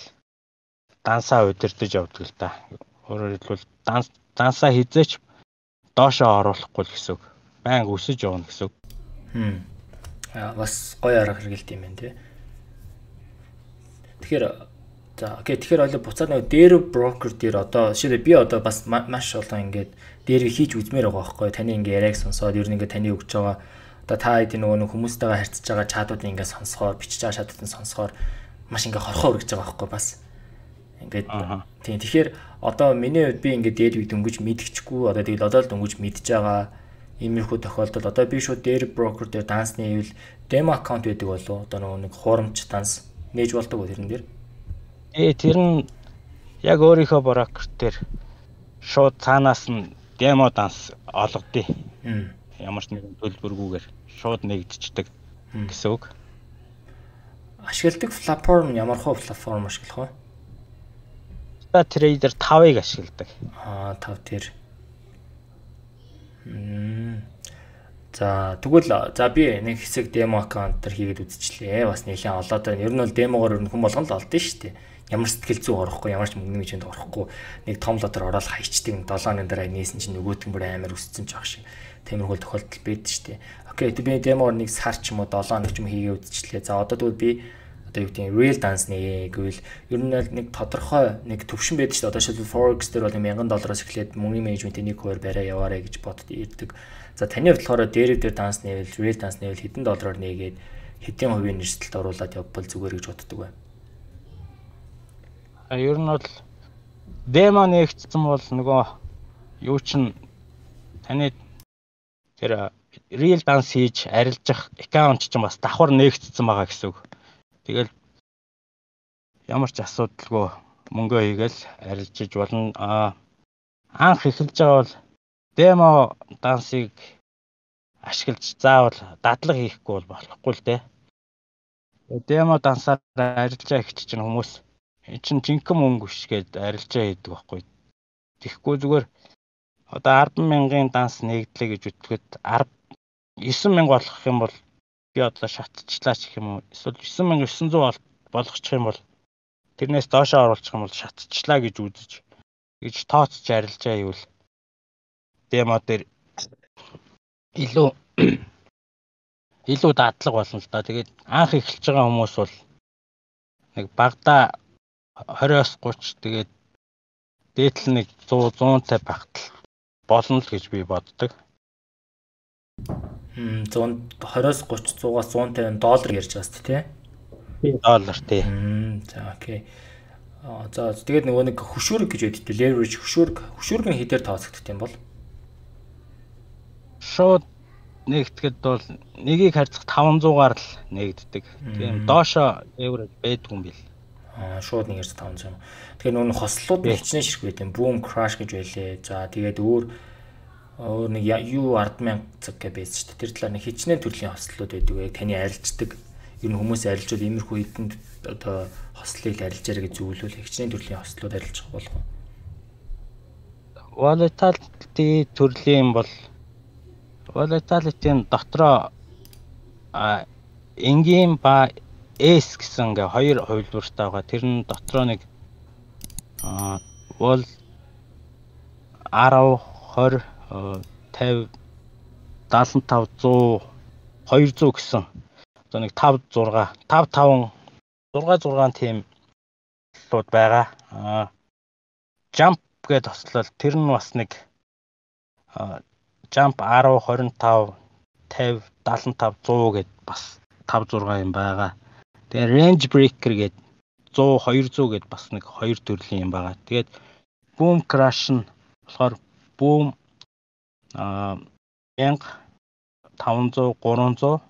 дансаа удирдах явдаг л да. Өөрөөр хэлбэл данс дансаа хизээч доошоо оруулахгүй л гэсэн үг. Байнга өсөж явна гэсэн үг. Хм. Аа бас гоё арга хэрэгэлт юм байна тий. Тэгэхээр за окей тэгэхээр ойлоо буцаад нэг дээр брокер дээр одоо жишээлбэл би одоо бас маш олон ингээд дээрээ хийж үзмээр байгаа байхгүй таны ингээд яриаг сонсоод ер нь ингээд таны өгч байгаа одоо та хэдийн нөгөө хүмүүстэйгээ харьцаж байгаа чатуудыг ингээд сонсохоор бичиж байгаа чатуудыг сонсохоор маш ингээд хорхоо өргөж байгаа байхгүй бас ингээд тийм тэгэхээр одоо миний хувьд би ингээд дээр үед өнгөж мэдчихгүй одоо тэгэл одоо л өнгөж мэдж байгаа иймэрхүү тохиолдолд одоо би шууд дээр брокер дээр дансны ивэл демо аккаунт байдаг болов одоо нөгөө нэг хуурамч данс нээж болдог уу тэрэн дээр. Ээ тэр нь яг өөрийнхөө брокер дээр шууд цаанаас нь демо данс олгодъё. Ямар ч нэгэн төлбөргүйгээр шууд нэгдчихдэг гэсэн үг. Ашигладаг платформ ямар хөө платформ ашиглах вэ? Та трейдер тавыг ашигладаг. Аа тав тэр. За тэгвэл за би нэг хэсэг демо аккаунт төр хийгээд үзчихлээ. Бас нэлээд олоод байна. Ер нь бол демогоор хүн болгоно л олдсон шүү дээ. Ямар сэтгэл зүй орохгүй, ямар ч мөнгөний мэжэнд орохгүй. Нэг том лотоор ороод хайчдаг долооны дараа нээсэн чинь нөгөөт нь бүр амар өссөн ч ах шиг. Тиймэрхүү тохиолдол байдаг шүү дээ. Окей, би демогоор нэг сар ч юм уу долоо нэг ч юм хийгээ үзчихлээ. За одоо тэгвэл би одоо юу гэдэг real dance нэ гэвэл ер нь нэг тодорхой нэг төвшин байдаг шүү дээ. Одоо шилбэл forex дээр бол мянган доллароос эхлээд мөнгөний менежментийн нэг хувиар барай яваарэ гэж бодод ирдэг. За таны болохоор дээр дээр данс нээвэл real dance нээвэл хэдэн доллараар нээгээд хэдэн хувийн нэрсэлд оруулаад явбал зүгээр гэж боддог бай. А ер нь бол демо нэгтсэн бол нөгөө юу чин таны тэр real dance хийж арилжах аккаунт чинь бас давхар нэгтсэн байгаа гэсэн үг. Тэгэл ямар ч асуудалгүй мөнгөө хийгээл арилжиж болно. А анх эхэлж байгаа бол демо дансыг ашиглаж заавал дадлага хийхгүй бол болохгүй л дээ. Демо дансаар арилжаа хийчих чинь хүмүүс энэ чинь жинхэнэ мөнгө биш гээд арилжаа хийдэг байхгүй. Тэгэхгүй зүгээр одоо арван мянган данс нэгдлээ гэж үтгэхэд девсан мянга болгох юм бол би одоо шатчихлаа ч гэх юм уу. Эсвэл девсан мянга девсан зуун болгочих юм бол тэрнээс доошоо оруулах юм бол шатчихлаа гэж үзэж гэж тооцож арилжаа хийвэл демо дээр илүү илүү дадлага болно л да. Тэгээд анх эхэлж байгаа хүмүүс бол нэг багада двадцоос гуйч тэгээд дээдл нэг сто цай багтал болно л гэж би боддог. Хм двадцоос гуйч сто-аас сто пятьдесят доллар ярьж байгаа шүү дээ тий. Доллар тий. За окей. Аа за тэгээд нөгөө нэг хөшүүрэг гэж яддаг. Leverage хөшүүрэг хөшүүрэг нь хэдээр тооцогддог юм бол шууд нэгтгэхэд бол нэгийг харьцах таванзуугаар л нэгддэг. Тийм доошо евро байдгүй юм бил. Аа шууд нэг хэрэг таванзуу. Тэгэхээр нөгөө хослууд хичнээн ширх байт юм. Boom crash гэж байлээ. За тэгээд өөр өөр нэг юу ард мянга цаг гэж байсан шүү дээ. Тэр талаар нэг хичнээн төрлийн хослууд байдаг. Яг таны арилждаг. Ер нь хүмүүс арилжуул иймэрхүү хэдэнд одоо хослыг арилжаарэ гэж зөвлөвөл хичнээн төрлийн хослууд арилжах болох уу? Volatility төрлийн бол volatility-ийн дотроо а энгийн ба S гэсэн ингээ хоёр хувилбартай байгаа. Тэр нь дотроо нэг а бол десять, двадцать, пятьдесят, семьдесят пять, сто, двести гэсэн. Одоо нэг five six, five five, six six тийм лууд байгаа. А jump гэдэг тослол тэр нь бас нэг jump ten, twenty-five, fifty, seventy-five, one hundred гэд бас five six юм байгаа. Тэгээ range breaker гэд one hundred, two hundred гэд бас нэг хоёр төрлийн юм байгаа. Тэгээд boom crash нь болохоор boom а one thousand, five hundred, three hundred,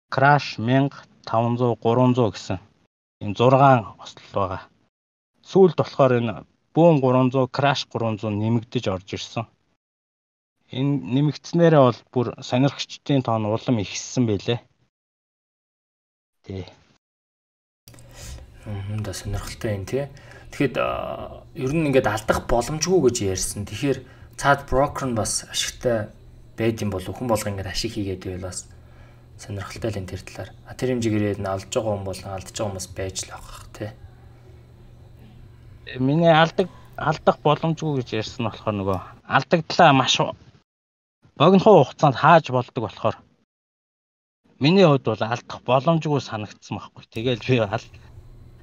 crash one thousand, five hundred, three hundred гэсэн энэ six ослол байгаа. Сүүлд болохоор энэ boom three hundred, crash three hundred нэмэгдэж орж ирсэн. Энэ нэмэгдснээрээ бол бүр сонирхчдын тоон улам ихссэн байлээ. Тий. Мм да сонирхолтой юм тий. Тэгэхэд ер нь ингээд алдах боломжгүй гэж ярьсан. Тэгэхээр цаад брокер нь бас ашигтай байд юм бол хүн болго ингээд ашиг хийгээд байвал бас сонирхолтой л энэ тэр талаар. А тэр хэмжээгээр нь алдж байгаа хүн болон алдж байгаа хүмүүс байж л байгаа тий. Миний алдаг алдах боломжгүй гэж ярьсан болохоор нөгөө алдагдлаа маш богино хугацаанд хааж болдог болохоор миний хувьд бол алдах боломжгүй санагдсан байхгүй. Тэгэл би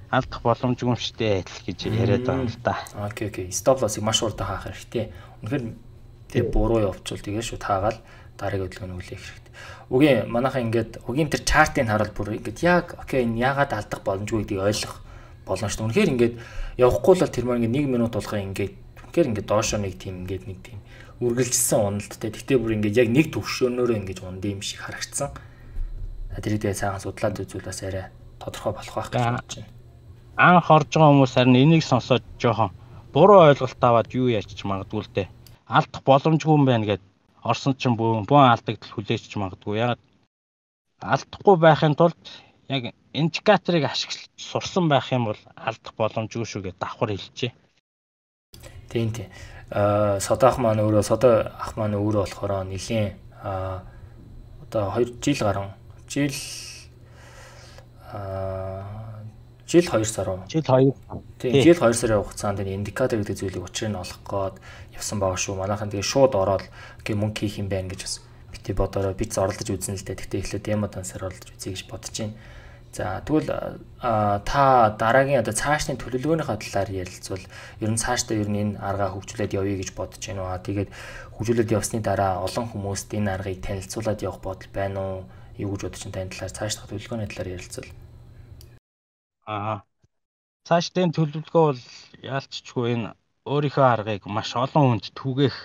алдах боломжгүй штэ гэж яриад байгаа юм л да. Окей окей. Stop loss-ыг маш урд хаах хэрэгтэй. Үнэхээр тэр буруу явуучвал тэгээ шууд хаагаад дараагийн хөдөлгөөнд үлээх хэрэгтэй. Үгүй манайхаа ингээд угийн тэр чартыг харуул бүр ингээд яг окей энэ яагаад алдах боломжгүй гэдгийг ойлгох болно шүү дээ. Үнэхээр ингээд явахгүй л тэр маань ингээд one минут болгоо ингээд үнэхээр ингээд доошоо нэг тийм ингээд нэг тийм үргэлжилсэн уналттай. Тэгтээ бүр ингээд яг нэг төвшөөнөөрөө ингээд унд юм шиг харагдсан. Тэрийг тэгээ цаахан судлаад үзвэл бас арай тодорхой болох байх гэж бодож байна. Анх орж байгаа хүмүүс харин энийг сонсоод жоохон буруу ойлголт аваад юу яачих магадгүй л дээ. Алдах боломжгүй юм байна гэд орсон чинь бөөн бөөн алдагдал хүлээч магадгүй. Ягаад алдахгүй байхын тулд яг индикаторыг ашиглаж сурсан байх юм бол алдах боломжгүй шүү гэж давхар хэлжээ. Тийм тийм. Аа содо ах маань өөрөө содо ах маань өөрөө болохоор нэлийн аа одоо two жил гарan жил аа жил two сар уу? Жил two. Тийм жил two сарын хугацаанд энэ индикатор гэдэг зүйлийг учрыг нь олох гээд явсан байгаа шүү. Манайхан тэгээ шууд ороод гээ мөнгө хийх юм байна гэж бас бити бодороо биц оролдож үзэн л дээ. Тэгтээ эхлээд демо дансаар оролдож үзье гэж бодож байна. За тэгвэл та дараагийн одоо цаашдын төлөвлөгөөнийхөө талаар ярилцвал ер нь цаашдаа ер нь энэ аргаа хөгжүүлээд явъя гэж бодож байна уу? Тэгээд хөгжүүлээд явсны дараа олон хүмүүст энэ аргыг танилцуулаад явах бодол байна уу? Юу гэж бодож байна тань талаар цаашдаа төлөвлөгөөний талаар ярилцвал. Аа. Цаашдын төлөвлөгөө бол яалтчгүй энэ өөрийнхөө аргыг маш олон хүнд түгээх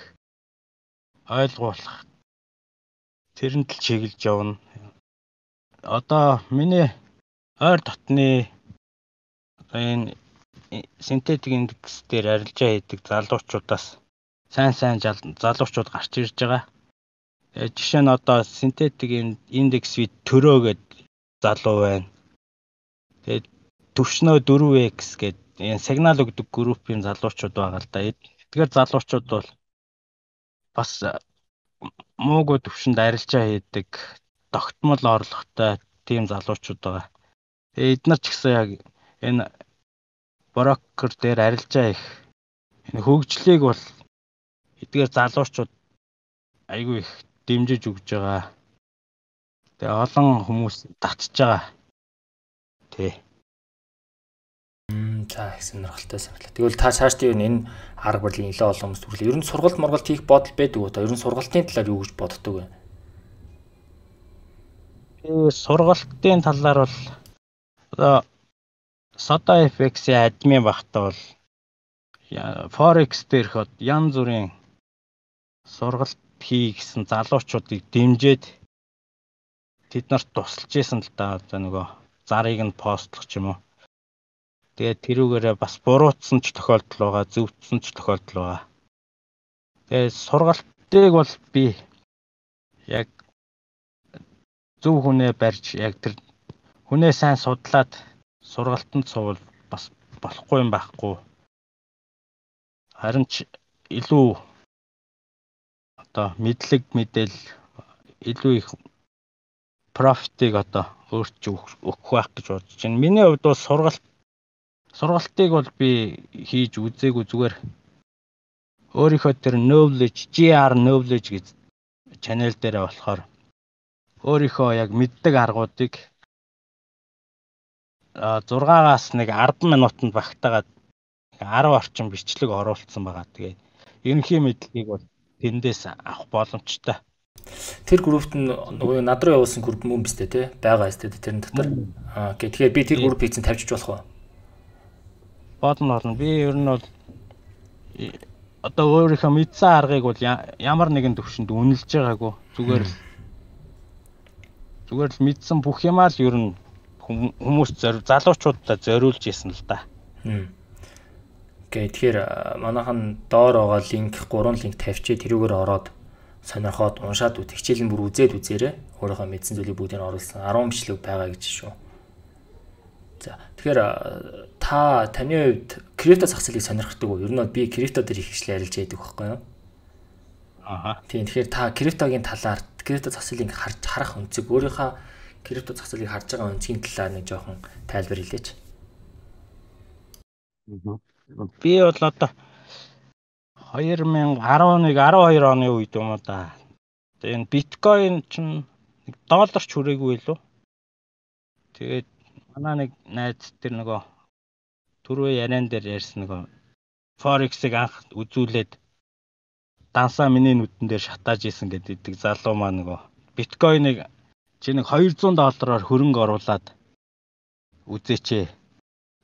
ойлгуулах тэрэнд л чиглэж явна. Одоо миний ойр дотны энэ синтетик индекс дээр арилжаа хийдэг залуучуудаас сайн сайн залуучууд гарч ирж байгаа. Тэгээ жишээ нь одоо синтетик индекс вид төрөө гэд залуу байна. Тэгээ төвшнөө four x гэд энэ сигнал өгдөг группийн залуучууд байгаа л да. Тэгэхээр залуучууд бол бас муугүй төвшөнд арилжаа хийдэг, тогтмол орлоготой тийм залуучууд байгаа. Тэгээ эдгээр ч гэсэн яг энэ брокер дээр арилжаа их энэ хөгжлийг бол эдгээр залуучууд айгүй их дэмжиж өгж байгаа. Тэгээ олон хүмүүс татж байгаа. Тий. Мм за их сонирхолтой санагдлаа. Тэгвэл та цаашдаа юу энэ арга барилын нэлээд олон хүмүүс түрлээ. Ер нь сургалт моргалт хийх бодол байдаг уу? Ер нь сургалтын талаар юу гэж боддог вэ? Э сургалтын талаар бол одоо Soda эф икс-ийн админ багтаа бол Forex дээрх янз бүрийн сургалт хий гэсэн залуучуудыг дэмжиж тэд нарт тусалж исэн л да. Одоо нөгөө зарыг нь постлох ч юм уу. Тэгээд тэрүүгээрээ бас буруутсан ч тохиолдол байгаа, зөвдсөн ч тохиолдол байгаа. Тэгээд сургалтыг бол би яг зөв хүнээ барьж яг тэр хүнээ сайн судлаад сургалтанд суувал бас болохгүй юм байхгүй. Харин ч илүү одоо мэдлэг мэдээл илүү их профитыг одоо өөрт ч өгөх байх гэж бодож байна. Миний хувьд бол сургалт сургалтыг бол би хийж үзээгүй, зүгээр өөрийнхөө тэр knowledge, джи ар knowledge гэж channel дээр болохоор өөрийнхөө яг мэддэг аргуудыг зургаагаас нэг арван минутанд багтаагаад арав орчим бичлэг оруулсан байгаа. Тэгээд ерөнхий мэдлэгийг бол тэндээс авах боломжтой. Тэр группт нөгөө над руу явуулсан групп мөн биз дээ, тий? Байгаа өстэй тэрэн дотор. Аа, тэгэхээр би тэр группийг чинь тавьчих болох уу? Бодно болно. Би ер нь бол одоо өөрийнхөө мэдсэн аргыг бол ямар нэгэн төвшөнд үнэлж байгаагүй. Зүгээр л зүгээр л мэдсэн бүх юмаа л ер нь хүмүүс залуучуудад зориулж ийсэн л да. Окей, тэгэхээр манайхан доор байгаа линк гурван линк тавьчих, тэрүүгээр ороод сонирхоод уншаад үт хичээл нь бүр үзээд үзээрэй. Өөрийнхөө мэдсэн зүйлийг бүгдийг оруулсан арван бичлэг байгаа гэж шүү. За тэгэхээр та таны хувьд крипто зах зээлийг сонирхдаг уу? Ер нь би крипто дээр их хичээл ярилж байдаг байхгүй юу? Аа. Тийм тэгэхээр та криптогийн талаар крипто зах зээлийг харж харах өнцөг өөрийнхөө крипто зах зээлийг харж байгаа өнцгийн талаар нэг жоохон тайлбар хэлээч. Би бол одоо две тысячи одиннадцать12 оны үед юм уу да. Тэгээд биткойн чинь нэг долларч хүрээгүй лөө. Тэгээд манай нэг найз тэр нөгөө түрүү яриан дээр ярьсан нөгөө Forex-ыг анх үзүүлээд дансаа миний нүдэн дээр шатааж исэн гэдэг залуу маань нөгөө биткойныг чи нэг двести доллараар хөрөнгө оруулаад үзээч.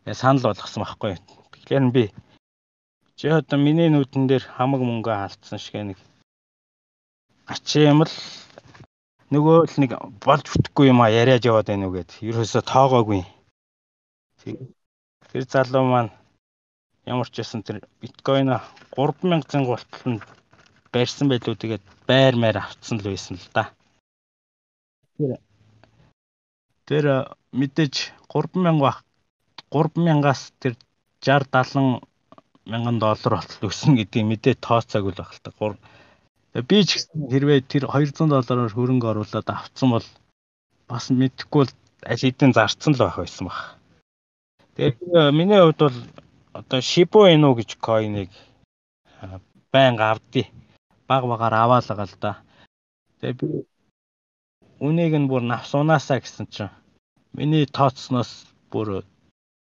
Яа санал болгосон байхгүй. Тэгэхээр би чи одоо миний нүдэн дээр хамаг мөнгө алдсан шиг нэг ачаа юм л нөгөө л нэг болж бүтэхгүй юм а яриад яваад байна уу гэд ерөөсө тоогоогүй. Тэр залуу маань ямар ч байсан тэр биткойн гурван мянган гуултал нь барьсан байлуу, тэгээд байр маяр авцсан л байсан л да. Тэр тэр мэдээж гурван мянга гурван мянгаас тэр шестьдесят севент мянган доллар болтол өснө гэдгийг мэдээ тооцоог л баг л та. Би ч гэсэн хэрвээ тэр двести доллараар хөрөнгө оруулаад авцсан бол бас мэдхгүй л аль хэдийн зарцсан л байх байсан баг. Тэгээд миний хувьд бол одоо Shiba Inu гэж койныг байнга авдээ. Баг багаар аваалгаа л да. Тэгээд би үнийг нь бүр навсуунаасаа гэсэн чинь миний тооцсноос бүр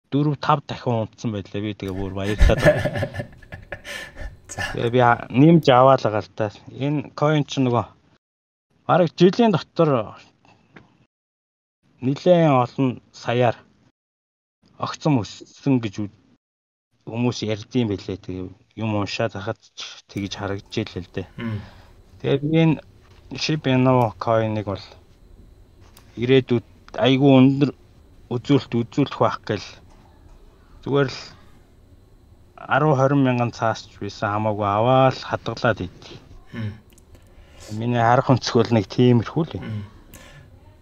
дөрөв тав дахин унтсан байлаа. Би тэгээ бүр баярлаад байна. За би нэмж аваалгаа л да. Энэ coin ч нөгөө бараг жилийн дотор нэлээд олон саяар огцом өссөн гэж хүмүүс ярьдсан байлээ. Тэгээ юм уншаад хахад тэгж харагдчихлээ л дээ. Тэгээд энэ Shiba Inu coin-ыг бол ирээдүйд айгүй өндөр үзүүлэлт үзүүлэх байх гэл зүгээр л десять двадцать мянган цаасч байсан хамаагүй аваад хадгалаад идэв. Миний харах өнцгөл нэг тиймэрхүү л юм.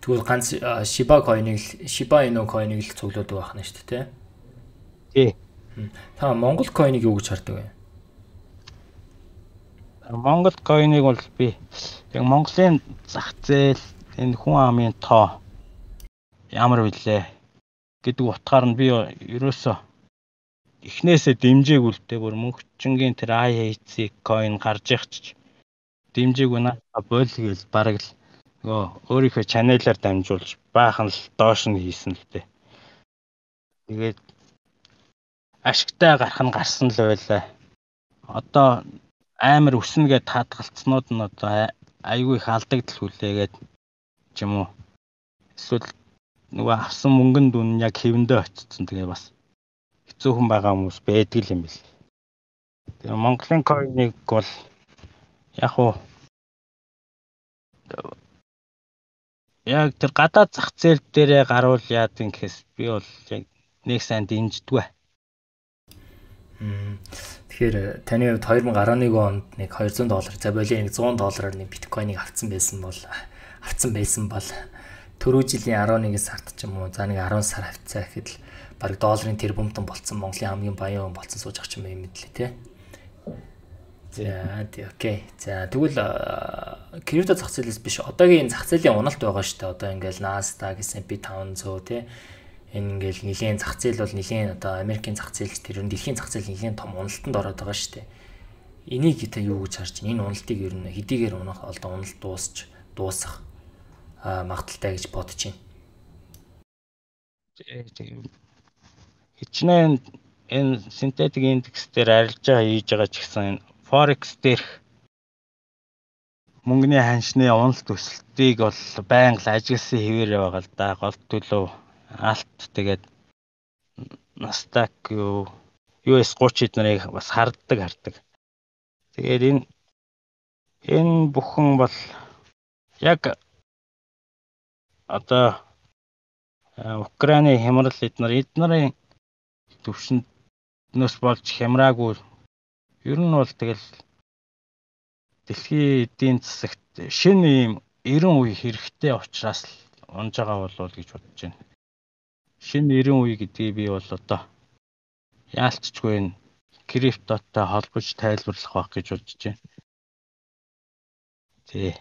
Тэгвэл ганц Shiba coin-ыг Shiba Inu coin-ыг л цуглаад байх нь шүү дээ, тий? Тий. Та Монгол coin-ыг юу гэж хардаг вэ? Монгол coin-ыг бол би яг Монголын зах зээл, энэ хүн амын тоо ямар вүлээ гэдэг утгаар нь би ерөөсөө эхнээсээ дэмжээгүй л дээ. Бүр мөнхчингийн тэр ай эйч си coin гарч ихч дэмжээгүй наа бойл гээл бараг л нөгөө өөрийнхөө чаналаар дамжуулж баахан л доош нь хийсэн л дээ. Тэгээд ашигтай гарах нь гарсан л байлаа. Одоо амар өснө гэд таатгалцснууд нь одоо айгүй их алдагдал хүлээгээд ч юм уу. Эсвэл нөгөө авсан мөнгөнд үн яг хэвэндээ очсон. Тэгээ бас хэцүүхэн байгаа хүмүүс байдаг юм бэл. Тэгээ Монголын coin-ыг бол яг уу яг тэр гадаад зах зээл дээрээ гаруул яад гэхээс би бол яг нэг сайн дэмждэггүй. Тэгэхээр таны хувьд две тысячи eleven онд нэг двести доллар, за болоо нэг сто доллараар нэг биткойныг авцсан байсан бол авцсан байсан бол түрүү жилийн eleven сард ч юм уу за нэг ten сар авцаа гэхэд л баг долларын тэрбумтан болцсон Монголын хамгийн баян хүн болцсон сууж ах юм юм мэдлээ те. За тий окей. За тэгвэл крипто зах зээлээс биш одоогийн зах зээлийн уналт байгаа шүү дээ. Одоо ингээл Nasdaq, эс энд пи five hundred тий энэ ингээл нэлийн зах зээл бол нэлийн одоо Америкийн зах зээл тэр нь дэлхийн зах зээл нэлийн том уналтанд ороод байгаа шүү дээ. Энийг та юу гэж харж байна? Энэ уналтыг ер нь хэдийгээр унах одоо уналт дуусч дуусах магадaltaй гэж бодож байна. Хичнээн энэ синтетик индекс дээр арилжаа хийж байгаа ч гэсэн Forex дээрх мөнгөний ханшны уналт өсөлтийг бол байнга ажигласан хэвээр байгаа л да. Гол төлөв алт тэгээд Nasdaq юу ю эс thirty эднэрийг бас харддаг хардаг. Тэгээд энэ энэ бүхэн бол яг одоо Украины хямрал эднэр эднэрийн төвшнөөс болж хямраагүй. Ер нь бол тэгэл дэлхийн эдийн засагт шинэ юм эрен үе хэрэгтэй учраас л унж байгаа болов гэж бодож байна. Шинэ эрен үе гэдгийг би бол одоо яалтчгүй криптотой холбож тайлбарлах байх гэж бодож байна. Тий.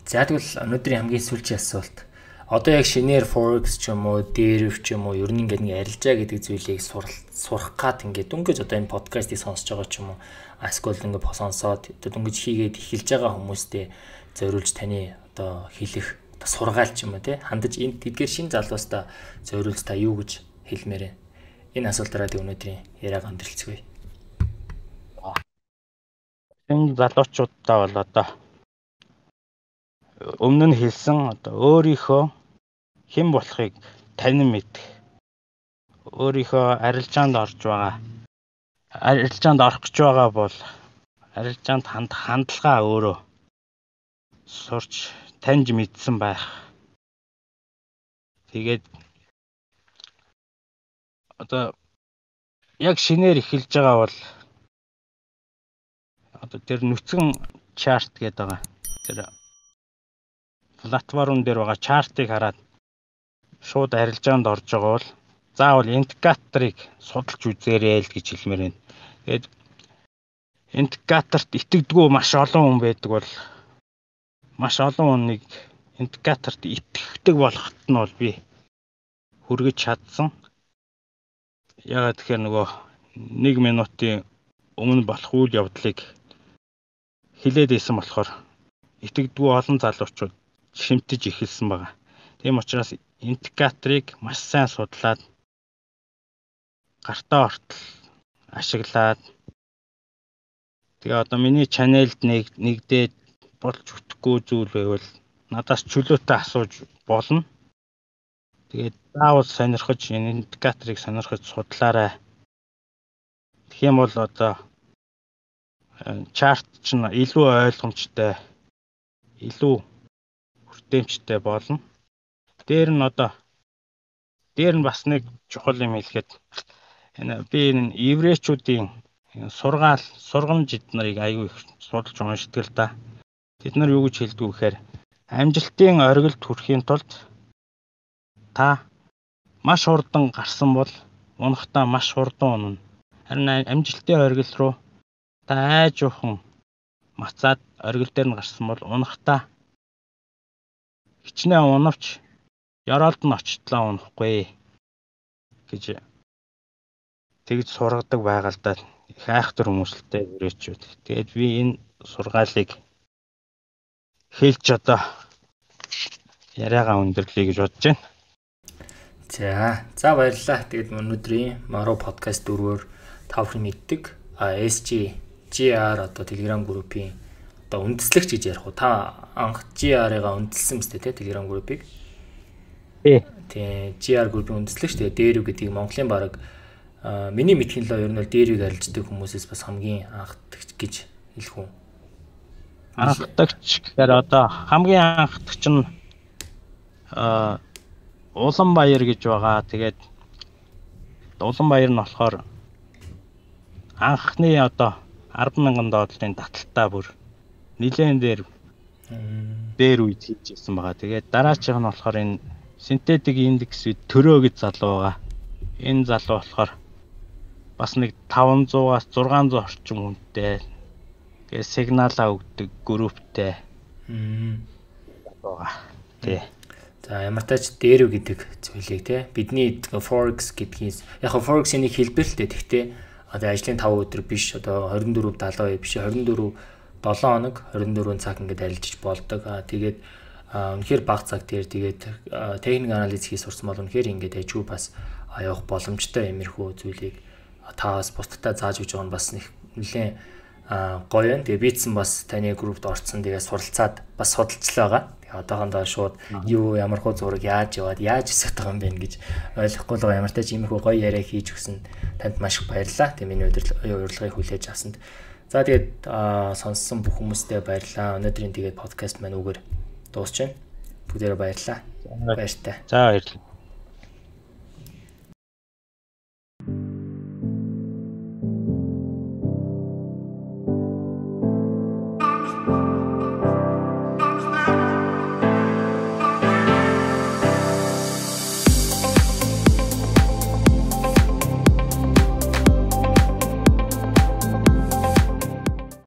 За тэгвэл өнөөдрийн хамгийн сүүлчийн асуулт. Одоо яг шинээр Forex ч юм уу, дээрв ч юм уу, ер нь ингээд нэг арилжаа гэдэг зүйлийг сурах гад ингээд дөнгөж одоо энэ подкастыг сонсож байгаа ч юм уу, эсвэл ингээд сонсоод дөнгөж хийгээд эхэлж байгаа хүмүүстээ зориулж таны одоо хэлэх одоо сургаал ч юм уу тий хандаж энэ тэдгээр шин залуустаа зориулж та юу гэж хэлмээр вэ? Энэ асуултаараа тий өнөөдрийн яриаг өндөрлцгөөе. Энэ залуучуудаа бол одоо өмнө нь хэлсэн одоо өөрийнхөө хэн болохыг танин мэдэх. Өөрийнхөө арилжаанд орж байгаа. Арилжаанд орох гэж байгаа бол арилжаанд хандах хандлагаа өөрөө сурч таньж мэдсэн байх. Тэгээд одоо яг шинээр эхэлж байгаа бол одоо тэр нүцгэн чарт гэдэг байгаа. Тэр платформ дээр байгаа чартыг хараад шууд арилжаанд орж байгаа бол заавал индикаторыг судалж үзээрэй л гэж хэлмээр байна. Тэгээд индикаторт итгэдэггүй маш олон хүн байдаг бол маш олон хүнийг индикаторт итгэдэг болгоход нь бол би хүргэж чадсан. Ягаад тэгэхээр нөгөө нэг минутын өмнө болох үйл явдлыг хилээд ийсэн болохоор итгэдэггүй олон залуучууд шимтэж эхэлсэн байгаа. Тийм учраас индикаторыг маш сайн судлаад гартаа ортол ашиглаад тэгээ одоо миний чанелд нэг нэгдээд болж өгөхгүй зүйл байвал надаас чөлөөтэй асууж болно. Тэгээд заавал сонирхож энэ индикаторыг сонирхож судлаарай. Тэгэх юм бол одоо чарт ч илүү ойлгомжтой, илүү хүртээмжтэй болно. Дээр нь одоо дээр нь бас нэг чухал юм хэлэхэд энэ би энэ еврейчүүдийн сургаал сургамж эднэрийг аягүй их судалж уншдаг л да. Тэд нар юу гэж хэлдэг вэ гэхээр амжилтын оргилд хүрэхийн тулд та маш хурдан гарсан бол унахдаа маш хурдан унана. Харин амжилтын оргил руу та айжуухан мацаад оргил дээр нь гарсан бол унахдаа хичнээн унавч Яролд нь очтлоо унахгүй гэж тэгж сургадаг байгаа л да. Их айхтар хүмүүсэлтэй өрөөчүүд. Тэгээд би энэ сургаалыг хэлж одоо яриагаа өндөрлөе гэж бодож байна. За, за баярлалаа. Тэгээд өнөөдрийн Maro podcast дөрвөөр тавхан мэддэг эс джи джи ар одоо Telegram группийн одоо үндэслэгч гэж ярих уу? Та анх джи ар-ыгаа үндэслсэн мэт те Telegram группийг. Тий, джи ар группийн үндэслэгч тэгээ дээрв гэдгийг Монголын баг миний мэдхийн л ер нь бол дээрвийг арилждаг хүмүүсээс бас хамгийн анхдагч гэж хэлэх үү? Анхдагч гэхээр одоо хамгийн анхдагч нь а Улаанбаяр гэж байгаа. Тэгээд Улаанбаяр нь болохоор анхны одоо арван мянган долларын таталтаа бүр нилээн дээр дээр үед хийж ирсэн байгаа. Тэгээд дараачих нь болохоор энэ синтетик индекс төрөө гэж залуу байгаа. Энэ залуу болохоор бас нэг таванзуугаас зургаан зуун орчим хүнтэй гээ сигналаа өгдөг групптэй. Мм. байгаа. Тий. За ямар тач дээрв гэдэг зүйлийг те бидний Forex гэдгийс яг нь Forex-ийн нэг хэлбэр л дээ. Тэгтээ одоо ажлын таван өдөр биш одоо двадцать четыре70 биш двадцать четыре seven хоног двадцать четыре цаг ингээд арилжиж болдог. Аа тэгээд үнэхээр бага цаг дээр тэгээд техник анализ хийж сурсан бол үнэхээр ингээд ажгүй бас явах боломжтой иймэрхүү зүйлийг таас бусдтай зааж өгч байгаа нь бас нэг нэлээд гоё юм. Тэгээ битсэн бас таны группт орцсон тэгээ суралцаад бас судалцлаа байгаа. Тэгээ одоохондоо шууд юу ямар хөө зураг яаж яваад яаж өсөх байгаа юм бэ гэж ойлгохгүй л байгаа. Ямар тач иймэрхүү гоё яриа хийж өгсөн танд маш их баярлалаа. Тэгээ миний урилгыг хүлээж авсанд. За тэгээд сонссон бүх хүмүүстээ баярлалаа. Өнөөдрийн тэгээд подкаст маань үгээр дуусч байна. Бүгдээрээ баярлалаа. Баяртай. За баярлалаа.